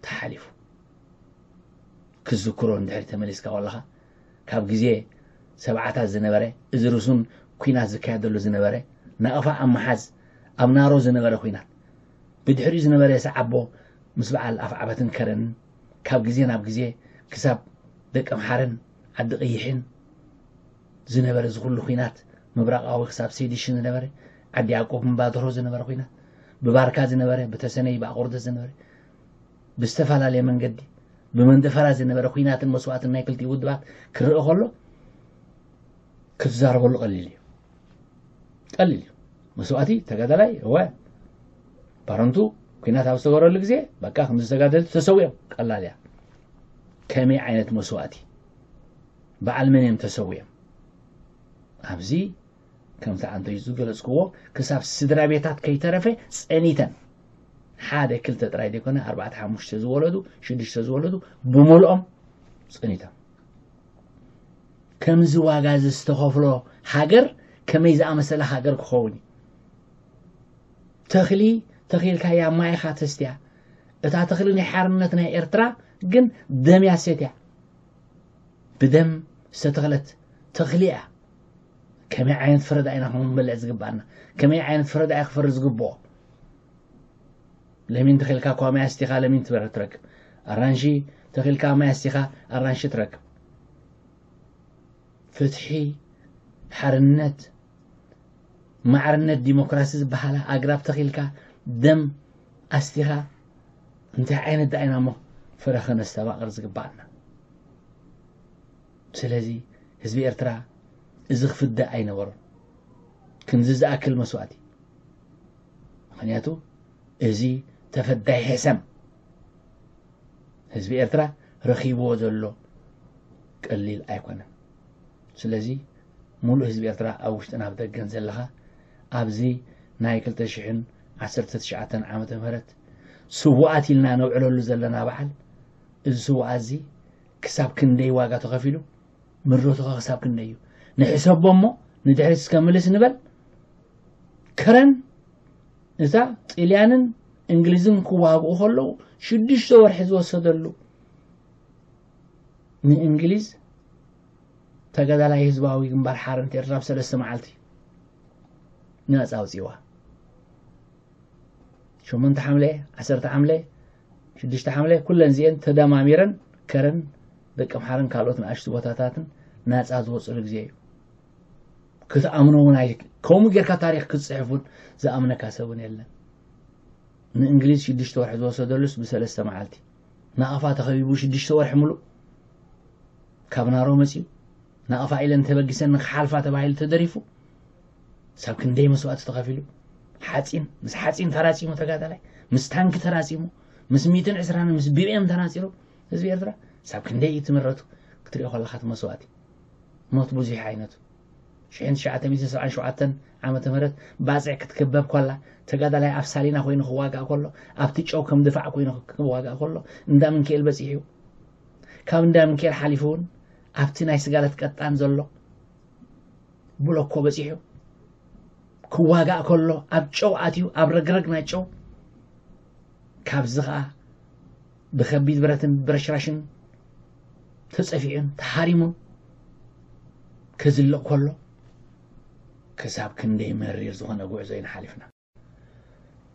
ተሓሊፉ። ክዝክሮ እንድሕሪ ተመሊስካ ከለኻ፣ ካብ ግዜ ሰብዓታት ዝነበረ፣ እዚ ርሱን ኲናት ዝካየደሉ ዝነበረ፣ ናቕፋ ኣብ መሓዝ ኣብ ናሮ ዝነበረ ኲናት፣ ብድሕሪኡ ዝነበረ ሰዓቦ ምስ በዓል ኣፍዓበትን ከረንን፣ ካብ ግዜ ናብ ግዜ ክሳብ ደቀምሓረን ዓዲ ቀይሕን ዝነበረ እዚ ኩሉ ኲናት፣ ምብራቓዊ ክሳብ ሴዲሽን ዝነበረ፣ ዓዲ ያዕቆብ እምባድሮ ዝነበረ ኲናት፣ ብባርካ ዝነበረ፣ ብተሰነይ ብኣቑርደት ዝነበረ፣ ብዝተፈላለየ መንገዲ ብመንደፈራ ዝነበረ ኲናትን መስዋእትን ናይ ክልቲኡ ውድባት ክረአ ከሎ፣ ክትዛረበሉ ቀሊል እዩ። ቀሊል እዩ። መስዋእቲ ተጋዳላይ፣ እወ፣ ባረንቱ ኲናት ኣብ ዝተገበረሉ ግዜ፣ በቃ፣ ከምዚ ተጋደልቲ ተሰዊኦም፣ ቀላል እያ። ከመይ ዓይነት መስዋእቲ? በዓል መን እዮም ተሰዊኦም? ኣብዚ ከምቲ ኣንተዩ ዝገለጽክዎ፣ ክሳብ ስድራ ቤታት ከይተረፈ ጸኒተን፣ ሓደ ክልተ ጥራይ ዘይኮነ፣ ኣርባዕተ ሓሙሽተ ዝወለዱ፣ ሽዱሽተ ዝወለዱ፣ ብምልኦም ጸኒቶም። ከምዚ ዋጋ እዚ ዝተኸፍሎ ሃገር ከመይ ዝኣመሰለ ሃገር ክኸውን እዩ? ተኽሊ ተኺልካያ ማይኻ ተስትያ። እታ ተኽሊ ናይ ሓርነት ናይ ኤርትራ ግን ደም እያ ሰትያ። ብደም ዝተተኽለት ተኽሊ እያ። ከመይ ዓይነት ፍረ ደኣ ኢና ክንበልዕ ዝግብኣና? ከመይ ዓይነት ፍረ ደኣ እዩ ክፈሪ ዝግብኦ? ለሚን ተኺልካ እኳ ማይ ኣስቲኻ ለሚን ትበረ-፣ ትረክብ። ኣራንሺ ተኺልካ ማይ ኣስቲኻ ኣራንሺ ትረክብ። ፍትሒ፣ ሓርነት፣ ማዕርነት፣ ዲሞክራሲ ዝበሃላ ኣግራብ ተኺልካ ደም ኣስቲኻ እንታይ ዓይነት ደኣ ኢና እሞ ፍረ ከነስተባቕር ዝግብኣና? ስለዚ ህዝቢ ኤርትራ እዚ ክፍደ ኣይነበሮን። ክንዚ ዝኣክል መስዋእቲ። ምኽንያቱ እዚ ተፈዳይ ሕሰም ህዝቢ ኤርትራ ረኺብዎ ዘሎ ቀሊል ኣይኮነን። ስለዚ ሙሉእ ህዝቢ ኤርትራ ኣብ ውሽጥን ኣብ ደገን ዘለኻ ኣብዚ ናይ ክልተ ሽሕን ዓሰርተ ትሽዓተን ዓመተ ምህረት ስዉኣት ኢልና ነውዕለሉ ዘለና በዓል፣ እዚ ስዉኣት እዚ ክሳብ ክንደይ ዋጋ ተኸፊሉ፣ ምረቱ ኸ ክሳብ ክንደይ እዩ? ንሕሰቦ እሞ ንድሕሪት እስከ ምልስ ንበል። ከረን እታ ጥልያንን እንግሊዝን ክዋግኡ ከለዉ ሽዱሽተ ወርሒ ዝወሰደሉ፣ ንእንግሊዝ ተጋዳላይ ህዝባዊ ግንባር ሓርነት ኤርትራ ኣብ ሰለስተ መዓልቲ ናጻ ኣውጺዋ። ሸሞንተ ሓምለ፣ ዓሰርተ ሓምለ፣ ሽዱሽተ ሓምለ፣ ኩለን እዚአን ተደማሚረን ከረን ደቀምሓረን ካልኦት ንኣሽቱ ቦታታትን ናጻ ዝወጽሉ ግዜ እዩ። ክትኣምኖ እውን ኣይ-፣ ከምኡ ጌርካ ታሪኽ ክትጽሕፍ እውን ዝኣምነካ ሰብ እውን የለን። ንእንግሊዝ ሽዱሽተ ወርሒ ዝወሰደሉስ ብሰለስተ መዓልቲ። ናቕፋ ተኸቢቡ ሽዱሽተ ወርሒ ምሉእ ካብ ናሮ መጺኡ። ናቕፋ ኢለን ተበጊሰን ንኽሓልፋ ተባሂሉ ተደሪፉ። ሳብ ክንደይ መስዋእቲ ተኸፊሉ። ሓጺን፣ ምስ ሓጺን ተራጺሙ ተጋዳላይ፣ ምስ ታንኪ ተራጺሙ፣ ምስ ሚእትን ዕስራን ምስ ቢቢኤም ተናጺሩ ህዝቢ ኤርትራ። ሳብ ክንደይ እዩ ትምረቱ ክትሪኦ ከለኻ እቲ መስዋእቲ። ሞት ብዙሕ ዓይነቱ። ሽሕን ትሽዓተ ሚእትን ሰብዓን ሸውዓተን ዓመተ ምህረት ባጽዕ ክትክበብ ከላ፣ ተጋዳላይ ኣብ ሳሊና ኮይኑ ክዋጋእ ከሎ፣ ኣብቲ ጨው ከም ድፋዕ ኮይኑ ክዋጋእ ከሎ፣ እንዳ ምንክኤል በጺሑ። ካብ እንዳ ምንክኤል ሓሊፉ እውን ኣብቲ ናይ ስጋለት ቀጣን ዘሎ ብሎኮ በጺሑ ክዋጋእ ከሎ ኣብ ጨው ኣትዩ፣ ኣብ ረግረግ ናይ ጨው፣ ካብዚ ኸኣ ብኸቢድ ብረትን ብረሽራሽን ተጸፊዑን ተሃሪሙን ክዝልቕ ከሎ፣ ክሳብ ክንደይ መሪር ዝኾነ ጉዕዞ ኢና ሓሊፍና።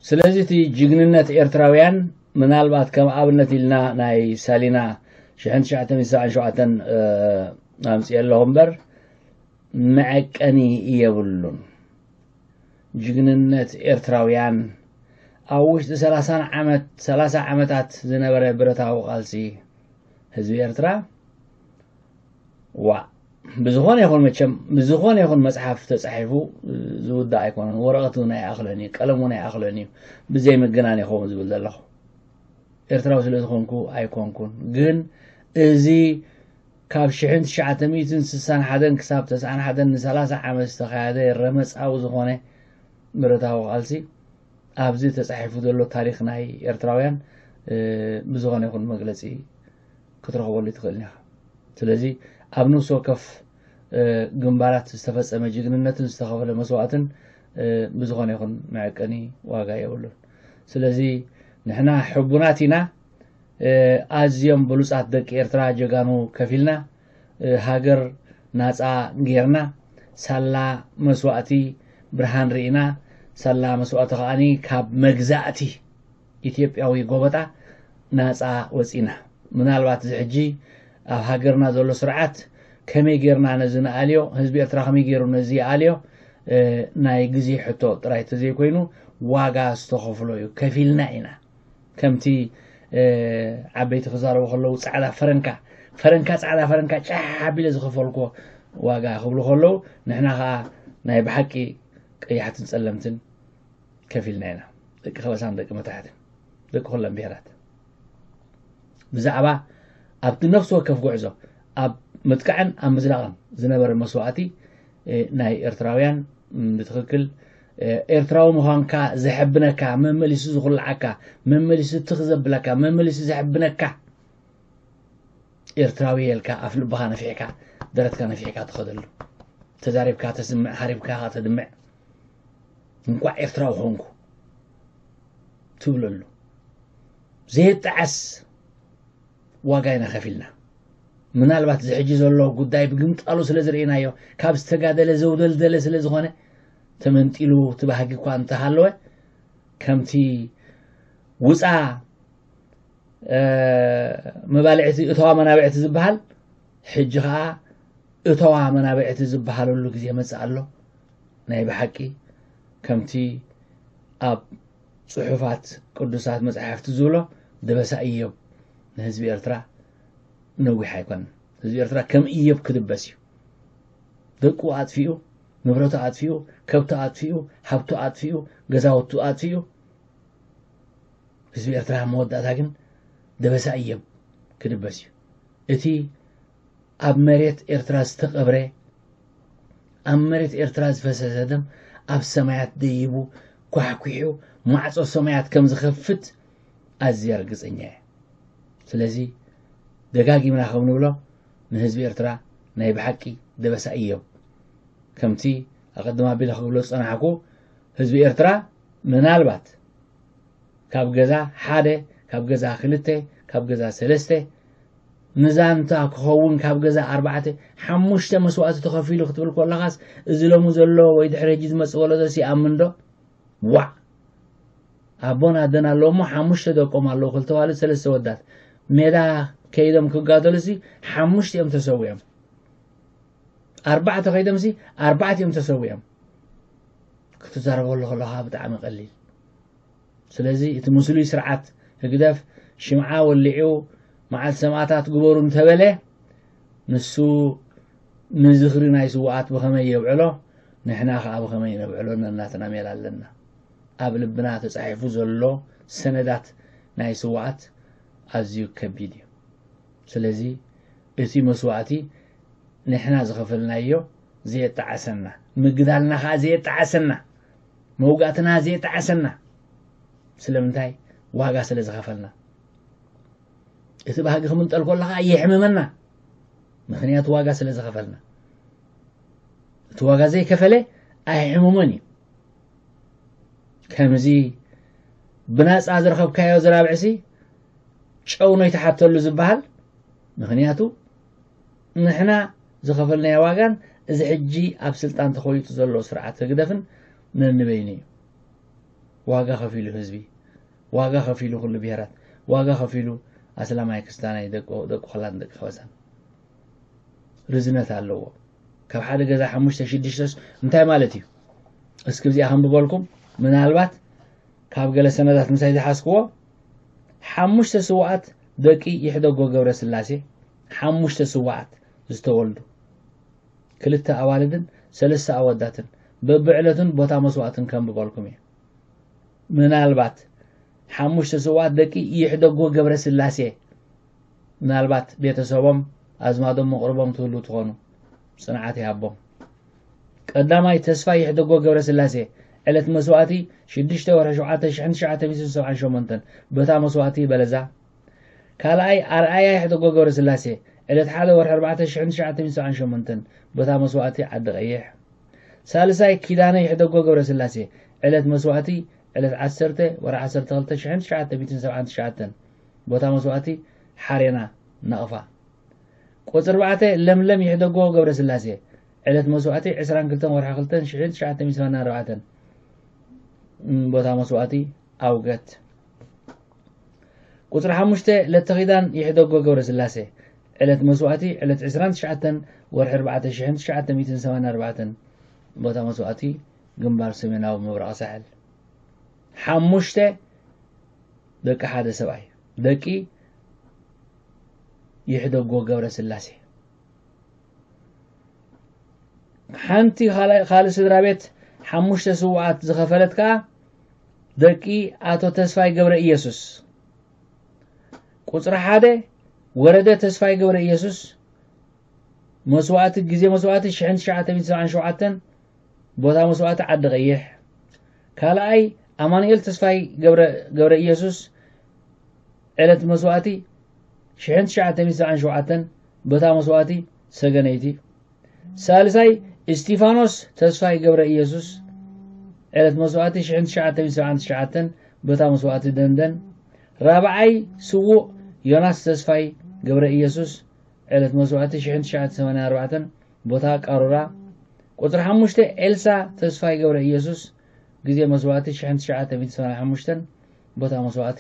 ስለዚ እቲ ጅግንነት ኤርትራውያን፣ ምናልባት ከም ኣብነት ኢልና ናይ ሳሊና ሽሕን ትሽዓተ ሚእትን ሰብዓን ሸውዓተን ኣምጽኤ ኣለኹ እምበር፣ መዐቀኒ የብሉን። ጅግንነት ኤርትራውያን ኣብ ውሽጢ ሰላሳን ዓመት፣ ሰላሳ ዓመታት ዝነበረ ብረታዊ ቃልሲ ህዝቢ ኤርትራ፣ ዋ፣ ብዝኾነ ይኹን፣ መቸም ብዝኾነ ይኹን መጽሓፍ ተጻሒፉ ዝውዳእ ኣይኮነን። ወረቐት እውን ኣይኣኽለን እዩ፣ ቀለም እውን ኣይኣኽለን እዩ። ብዘይ ምግናን ይኸውን ዝብል ዘለኹ። ኤርትራዊ ስለ ዝኾንኩ ኣይኮንኩን። ግን እዚ ካብ ሽሕን ትሽዓተ ሚእትን ስሳን ሓደን ክሳብ ተስዓን ሓደን ንሰላሳ ዓመት ዝተኻየደ ረመጻዊ ዝኾነ ብረታዊ ቃልሲ፣ ኣብዚ ተጻሒፉ ዘሎ ታሪኽ ናይ ኤርትራውያን፣ እ፣ ብዝኾነ ይኹን መግለጺ ክትረኽበሉ ኣይትኽእልን ኢኻ። ስለዚ ኣብ ነፍሲ ወከፍ፣ እ፣ ግንባራት ዝተፈጸመ ጅግንነትን ዝተኸፈለ መስዋእትን፣ እ፣ ብዝኾነ ይኹን መዐቀኒ ዋጋ የብሉን። ስለዚ ንሕና ሕቡናት ኢና፣ እ፣ ኣዝዮም ብሉጻት ደቂ ኤርትራ ጀጋኑ ከፊልና፣ እ፣ ሃገር ናጻ ጌርና፣ ሳላ መስዋእቲ ብርሃን ርኢና፣ ሳላ መስዋእቲ ከኣኒ ካብ መግዛእቲ ኢትዮጵያዊ ጎበጣ ናጻ ወጺና። ምናልባት እዚ ሕጂ ኣብ ሃገርና ዘሎ ስርዓት ከመይ ጌርና ነዚ ንኣልዮ፣ ህዝቢ ኤርትራ ከመይ ገይሩ ነዚ ይኣልዮ፣ እ፣ ናይ ግዜ ሕቶ ጥራይ ተዘይኮይኑ ዋጋ ዝተኸፍሎ እዩ። ከፊልና ኢና። ከምቲ፣ እ፣ ዓበይቲ ክዛረቡ ከለዉ ጻዕዳ ፈረንካ፣ ፈረንካ፣ ጻዕዳ ፈረንካ ጫሕ ኣቢለ ዝኸፈልኩዎ ዋጋ ክብሉ ከለዉ፣ ንሕና ኸኣ ናይ ብሓቂ ቀያሕትን ጸለምትን ከፊልና ኢና። ደቂ ከበሳን ደቂ መታሕትን፣ ደቂ ኩለን ብሄራት። ብዛዕባ ኣብቲ ነፍሲ ወከፍ ጉዕዞ፣ ኣብ ምጥቃዕን ኣብ ምዝላቕን ዝነበረ መስዋእቲ፣ እ፣ ናይ ኤርትራውያን፣ ም፣ ብትኽክል፣ እ፣ ኤርትራዊ ምዃንካ ዘሐብነካ፣ መመሊሱ ዝኹልዓካ፣ መመሊሱ ትኽ ዘብለካ፣ መመሊሱ ዘሐብነካ ኤርትራዊ እየ ኢልካ ኣፍ ልብኻ ነፊሕካ፣ ደረትካ ነፊሕካ ትኸደሉ። ተዛሪብካ ተስምዕ፣ ሃሪብካ ተድምዕ። እንቋዕ ኤርትራዊ ኾንኩ ትብለሉ። ዘየጣዕስ ዋጋ ኢና ከፊልና። ምናልባት እዚ ሕጂ ዘሎ ጉዳይ ብግምጣሉ ስለ ዝርኢናዮ፣ ካብ ዝተጋደለ ዘውደልደለ ስለ ዝኾነ፣ ተመንጢሉ እቲ ባህጊ እኳ እንተሃለወ፣ ከምቲ ውጻ፣ እ፣ መባልዕቲ እተዋ መናብዕቲ ዝበሃል፣ ሕጂ ኸኣ እተዋ መናብዕቲ ዝበሃለሉ ግዜ መጽእ ኣሎ። ናይ ብሓቂ ከምቲ ኣብ ጽሑፋት ቅዱሳት መጻሕፍቲ ዝብሎ፣ ደበሳ ኢዮብ ንህዝቢ ኤርትራ ነዊሕ ኣይኮነን። ህዝቢ ኤርትራ ከም ኢዮብ ክድበስ እዩ። ደቁ ኣጥፊኡ፣ ንብረቱ ኣጥፊኡ፣ ከብቱ ኣጥፊኡ፣ ሃብቱ ኣጥፊኡ፣ ገዛውቱ ኣጥፊኡ፣ ህዝቢ ኤርትራ ኣብ መወዳእታ ግን ደበሳ ኢዮብ ክድበስ እዩ። እቲ ኣብ መሬት ኤርትራ ዝተቐብረ፣ ኣብ መሬት ኤርትራ ዝፈሰሰ ደም ኣብ ሰማያት ደይቡ ኳሕኲሑ ማዕጾ ሰማያት ከም ዝኸፍት ኣዝየ ርግጸኛ እየ። ስለዚ ደጋጊምና ከም ንብሎ ንህዝቢ ኤርትራ ናይ ብሓቂ ደበሳ ኢዮብ። ከምቲ ኣቐድም ኣቢለ ክብሎ ዝጸናሕኩ፣ ህዝቢ ኤርትራ ምናልባት ካብ ገዛ ሓደ፣ ካብ ገዛ ክልተ፣ ካብ ገዛ ሰለስተ፣ ንዛንታ ክኸውን ካብ ገዛ ኣርባዕተ፣ ሓሙሽተ መስዋእቲ ተኸፊሉ ክትብል ከለኻስ፣ እዚ ሎሚ ዘሎ ወይ ድሕሪ ሕጂ ዝመጽእ ወለዶስ ይኣምን ዶ? ዋዕ! ኣቦን ኣደን ኣለዉ እሞ ሓሙሽተ ደቆም ኣለዉ፣ ክልተ ዋልድ፣ ሰለስተ ወዳት። ሜዳ ከይዶም ክጋደሉሲ ሓሙሽተ እዮም ተሰዊኦም። ኣርባዕተ ከይዶምሲ ኣርባዕተ እዮም ተሰዊኦም። ክትዛረበሉ ከለኻ ብጣዕሚ ቀሊል። ስለዚ እቲ ምስሉይ ስርዓት ህግደፍ ሽምዓ ወሊዑ መዓልቲ ሰማእታት ግበሩ እንተበለ፣ ንሱ ንዝኽሪ ናይ ስውኣት ብኸመይ የብዕሎ፣ ንሕና ኸኣ ብኸመይ ነብዕሎ ነናትና ሜላ ኣለና። ኣብ ልብና ተጻሒፉ ዘሎ ሰነዳት ናይ ስውኣት ኣዝዩ ከቢድ እዩ። ስለዚ እቲ መስዋእቲ ንሕና ዝኸፈልናዮ ዘየጣዕሰና፣ ምግዳልና ኸኣ ዘየጣዕሰና፣ መውጋእትና ዘየጣዕሰና። ስለምንታይ? ዋጋ ስለ ዝኸፈልና። እቲ ባህጊ ክምንጠል ከሎ ኸኣ የሕምመና። ምኽንያቱ ዋጋ ስለ ዝኸፈልና። እቲ ዋጋ ዘይከፈለ ኣይሕምሞን እዩ። ከምዚ ብናፃ ዝረኸብካዮ ዝራብዕሲ ጨው ነው ይተሓተሉ ዝበሃል። ምኽንያቱ ንሕና ዝኸፈልናዮ ዋጋን እዚ ሕጂ ኣብ ስልጣን ተኾይጡ ዘሎ ስርዓት ህግደፍን ነንበይኑ እዩ። ዋጋ ከፊሉ ህዝቢ፣ ዋጋ ከፊሉ ኩሉ ብሄራት፣ ዋጋ ከፊሉ ኣስላማይ ክስታናይ ደቁ ደቁ ኸላን ደቂ ኸበሳን። ርዝነት ኣለዎ። ካብ ሓደ ገዛ ሓሙሽተ ሽዱሽተስ እንታይ ማለት እዩ? እስኪ እዚኣ ከንብበልኩም። ምናልባት ካብ ገለ ሰነዳት ምሳይ ዝሓዝክዎ ሓሙሽተ ስውኣት ደቂ ይሕደጎ ገብረ ስላሴ፣ ሓሙሽተ ስውኣት ዝተወልዱ፣ ክልተ ኣዋልድን ሰለስተ ኣወዳትን፣ በብዕለቱን ቦታ መስዋእትን ከንብበልኩም እየ። ምናልባት ሓሙሽተ ስውኣት ደቂ ይሕደጎ ገብረ ስላሴ፣ ምናልባት ቤተሰቦም ኣዝማዶም መቕርቦም ትህሉ ትኾኑ፣ ጽንዓት ይሃቦም። ቀዳማይ ተስፋይ ይሕደጎ ገብረ ስላሴ፣ ዕለት መስዋእቲ ሽዱሽተ ወርሒ ሸውዓተ ሽሕን ትሽዓተ ሚእትን ሰብዓን ሸሞንተን፣ በታ መስዋእቲ በለዛ። ካልኣይ ኣርኣያ ይሕደጎ ገብረ ስላሴ፣ ዕለት ሓደ ወርሒ ኣርባዕተ ሽሕን ትሽዓተ ሚእትን ሰብዓን ሸሞንተን፣ በታ መስዋእቲ ዓዲ ቀይሕ። ሳልሳይ ኪዳነ ይሕደጎ ገብረ ስላሴ፣ ዕለት መስዋእቲ ዕለት ዓሰርተ ወርሒ ዓሰርተ ክልተ ሽሕን ትሽዓተ ሚእትን ሰብዓን ትሽዓተን፣ ቦታ መስዋእቲ ሓሬና ናቕፋ። ቁጽሪ ኣርባዕተ ለምለም ይሕደጎ ገብረ ስላሴ፣ ዕለት መስዋእቲ ዕስራን ክልተን ወርሒ ክልተን ሽሕን ትሽዓተ ሚእትን ሰማንያን ኣርባዕተን፣ እም፣ ቦታ መስዋእቲ ኣውገት። ቁጽሪ ሓሙሽተ ለተኺዳን ይሕደጎ ገብረ ስላሴ፣ ዕለት መስዋእቲ ዕለት ዕስራን ትሽዓተን ወርሒ ኣርባዕተ ሽሕን ትሽዓተ ሚእትን ሰማንያን ኣርባዕተን፣ ቦታ መስዋእቲ ግንባር ሰሜናዊ ምብራቕ ሳሕል። ሓሙሽተ ደቂ ሓደ ሰብኣይ፣ ደቂ ይሕደጎ ገብረ ስላሴ። ሓንቲ ካልእ ካልእ ስድራ ቤት ሓሙሽተ ስውኣት ዝኸፈለት ከኣ ደቂ ኣቶ ተስፋይ ገብረ ኢየሱስ። ቁጽሪ ሓደ ወረደ ተስፋይ ገብረ ኢየሱስ፣ መስዋእቲ፣ ግዜ መስዋእቲ ሽሕን ትሽዓተ ሚእትን ሰብዓን ሸውዓተን፣ ቦታ መስዋእቲ ዓዲ ቀይሕ። ካልኣይ ኣማኑኤል ተስፋይ ገብረ፣ ገብረ ኢየሱስ፣ ዕለት መስዋእቲ ሽሕን ትሽዓተ ሚእትን ሰብዓን ሸውዓተን፣ ቦታ መስዋእቲ ሰገነይቲ። ሳልሳይ እስቲፋኖስ ተስፋይ ገብረ ኢየሱስ፣ ዕለት መስዋእቲ ሽሕን ትሽዓተ ሚእትን ሰብዓን ትሽዓተን፣ ቦታ መስዋእቲ ደንደን። ራብዓይ ስዉእ ዮናስ ተስፋይ ገብረ ኢየሱስ፣ ዕለት መስዋእቲ ሽሕን ትሽዓተ ሚእትን ሰማንያን ኣርባዕተን፣ ቦታ ቃሩራ። ቁጽሪ ሓሙሽተ ኤልሳ ተስፋይ ገብረ ኢየሱስ፣ ግዜ መስዋእቲ ሽሕን ትሽዓተ ሚእትን ሰማንያን ሓሙሽተን፣ ቦታ መስዋእቲ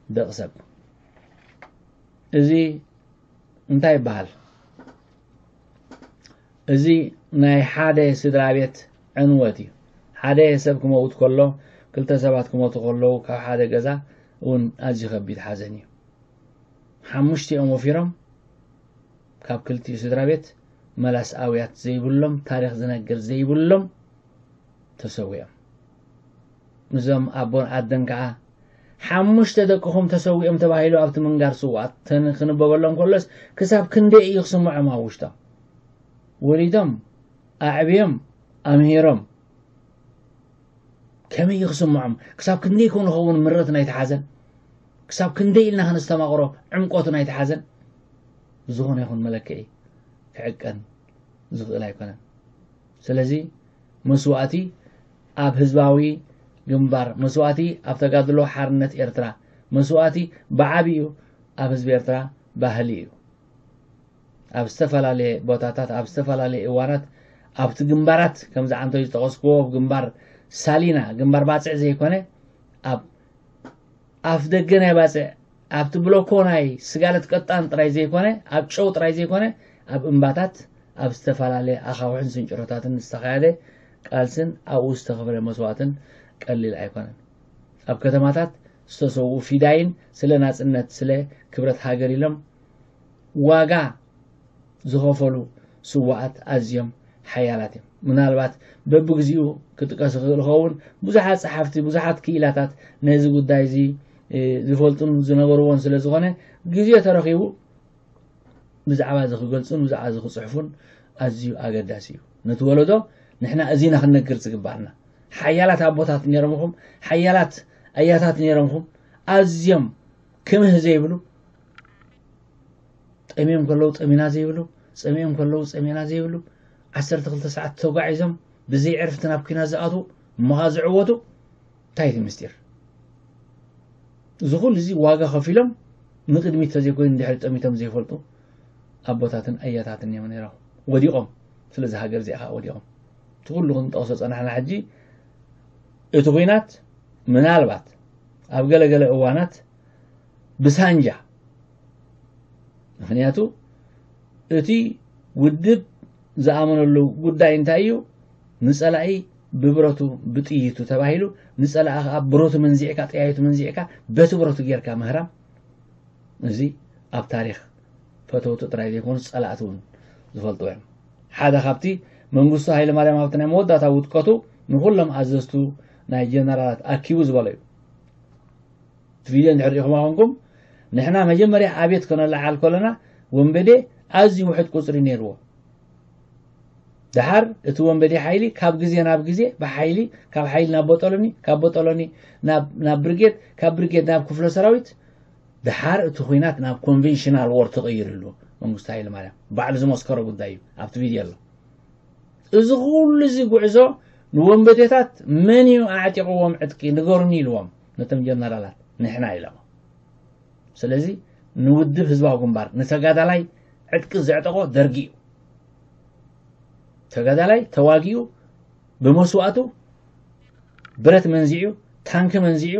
ደቕሰብ። እዚ እንታይ ይበሃል? እዚ ናይ ሓደ ስድራ ቤት ዕንወት እዩ። ሓደ ሰብ ክመውት ከሎ፣ ክልተ ሰባት ክሞቱ ከለዉ፣ ካብ ሓደ ገዛ እውን ኣዝዩ ከቢድ ሓዘን እዩ። ሓሙሽቲኦም ወፊሮም፣ ካብ ክልቲኡ ስድራ ቤት መላስ ኣውያት ዘይብሎም፣ ታሪኽ ዝነግር ዘይብሎም ተሰዊኦም። እዞም ኣቦን ኣደን ከኣ ሓሙሽተ ደቅኹም ተሰዊኦም ተባሂሉ ኣብቲ ምንጋር ስውኣት ተን-፣ ክንበበሎም ከሎስ ክሳብ ክንደይ እዩ ክስምዖም ኣብ ውሽጦም? ወሊዶም፣ ኣዕብዮም፣ ኣምሂሮም፣ ከመይ እዩ ክስምዖም? ክሳብ ክንደይ ኮን ንኸውን ምረት ናይቲ ሓዘን? ክሳብ ክንደይ ኢልና ከነስተማቕሮ ዕምቆቱ ናይቲ ሓዘን? ዝኾነ ይኹን መለክዒ ክዕቀን ዝኽእል ኣይኮነን። ስለዚ መስዋእቲ ኣብ ህዝባዊ ግንባር፣ መስዋእቲ ኣብ ተጋድሎ ሓርነት ኤርትራ፣ መስዋእቲ ብዓቢኡ ኣብ ህዝቢ ኤርትራ ባህሊ እዩ። ኣብ ዝተፈላለየ ቦታታት፣ ኣብ ዝተፈላለየ እዋናት፣ ኣብቲ ግንባራት፣ ከምዚ ዓንተይ ዝጠቐስክዎ፣ ኣብ ግንባር ሳሊና፣ ግንባር ባጽዕ ዘይኮነ፣ ኣብ ኣፍ ደገ ናይ ባጽዕ፣ ኣብቲ ብሎኮ ናይ ስጋለት ቀጣን ጥራይ ዘይኮነ፣ ኣብ ጨው ጥራይ ዘይኮነ፣ ኣብ እምባታት፣ ኣብ ዝተፈላለየ ኣኻውሕን ስንጭሮታትን ዝተኻየደ ቃልስን ኣብኡ ዝተኸፍለ መስዋእትን ቀሊል ኣይኮነን። ኣብ ከተማታት ዝተሰውኡ ፊዳይን ስለ ናጽነት፣ ስለ ክብረት ሃገር ኢሎም ዋጋ ዝኸፈሉ ስውኣት ኣዝዮም ሓያላት እዮም። ምናልባት በብግዚኡ ክጥቀስ ይኽእል ይኸውን። ብዙሓት ጸሓፍቲ፣ ብዙሓት ክኢላታት ነዚ ጉዳይ እዚ፣ እ፣ ዝፈልጡን ዝነበርዎን ስለ ዝኾነ፣ ግዜ ተረኺቡ ብዛዕባ እዚ ክገልጹን ብዛዕባ እዚ ክጽሕፉን ኣዝዩ ኣገዳሲ እዩ። ነቲ ወለዶ ንሕና እዚ ኢና ክንነግር ዝግባኣና። ሓያላት ኣቦታት ነይሮምኹም፣ ሓያላት ኣያታት ነይሮምኹም፣ ኣዝዮም ክምህ ዘይብሉ፣ ጠምዮም ከለዉ ጠሚና ዘይብሉ፣ ጸሚኦም ከለዉ ጸሚእና ዘይብሉ፣ ዓሰርተ ክልተ ሰዓት ተጓዒዞም ብዘይ ዕርፍቲ ናብ ኲናት ዝኣትዉ፣ እሞ ኸኣ ዝዕወቱ። እንታይ እቲ ምስጢር? እዚ ኩሉ እዚ ዋጋ ከፊሎም ንቕድሚት ተዘይኮይኑ ንድሕሪት ጠሚቶም ዘይፈልጡ ኣቦታትን ኣያታትን እዮም ነይሮም። ወዲቖም። ስለዚ ሃገር እዚኣ ኸኣ ወዲቖም። እቲ ኩሉ ክንጠቕሶ ጸናሕና ሕጂ እቲ ኲናት ምናልባት ኣብ ገለገለ እዋናት ብሳንጃ፣ ምኽንያቱ እቲ ውድብ ዝኣመነሉ ጉዳይ እንታይ እዩ? ንጸላኢ ብብረቱ ብጥይቱ ተባሂሉ፣ ንጸላኢ ኸኣ ብረቱ መንዚዕካ፣ ጠያይቱ መንዚዕካ፣ በቲ ብረቱ ጌርካ ምህራም። እዚ ኣብ ታሪኽ ፈተውቱ ጥራይ ዘይኮኑ ጸላእቲ እውን ዝፈልጥዎ እዮም። ሓደ ካብቲ መንግስቱ ሃይለማርያም ኣብቲ ናይ መወዳእታ ውድቀቱ ንኹሎም ኣዘዝቱ ናይ ጀነራላት ኣኪቡ ዝበሎ እዩ። እቲ ቪድዮ እንድሕር ርኢኹም ኮንኩም፣ ንሕና መጀመርያ ኣብዮት ከነለዓል ከለና ወንበዴ ኣዝዩ ውሑድ ቁጽሪ ነይርዎ። ደሓር እቲ ወንበዴ ሓይሊ ካብ ግዜ ናብ ግዜ ብሓይሊ፣ ካብ ሓይሊ ናብ ቦጦሎኒ፣ ካብ ቦጦሎኒ ናብ፣ ናብ ብርጌድ፣ ካብ ብርጌድ ናብ ክፍለ ሰራዊት፣ ደሓር እቲ ኲናት ናብ ኮንቬንሽናል ዎር ተቐይሩ ኣሎ። መንግስቱ ሃይለማርያም ባዕሉ ዝመስከሮ ጉዳይ እዩ፣ ኣብቲ ቪድዮ ኣሎ። እዚ ኩሉ እዚ ጉዕዞ ንወንበዴታት መን እዩ ኣዕጢቕዎም ዕጥቂ ንገሩኒ ኢልዎም ነቶም ጀነራላት፣ ንሕና ኢሎም። ስለዚ ንውድብ ህዝባዊ ግንባር፣ ንተጋዳላይ ዕጥቂ ዘዕጠቖ ደርጊ እዩ። ተጋዳላይ ተዋጊኡ ብመስዋእቱ ብረት መንዚዑ፣ ታንኪ መንዚዑ፣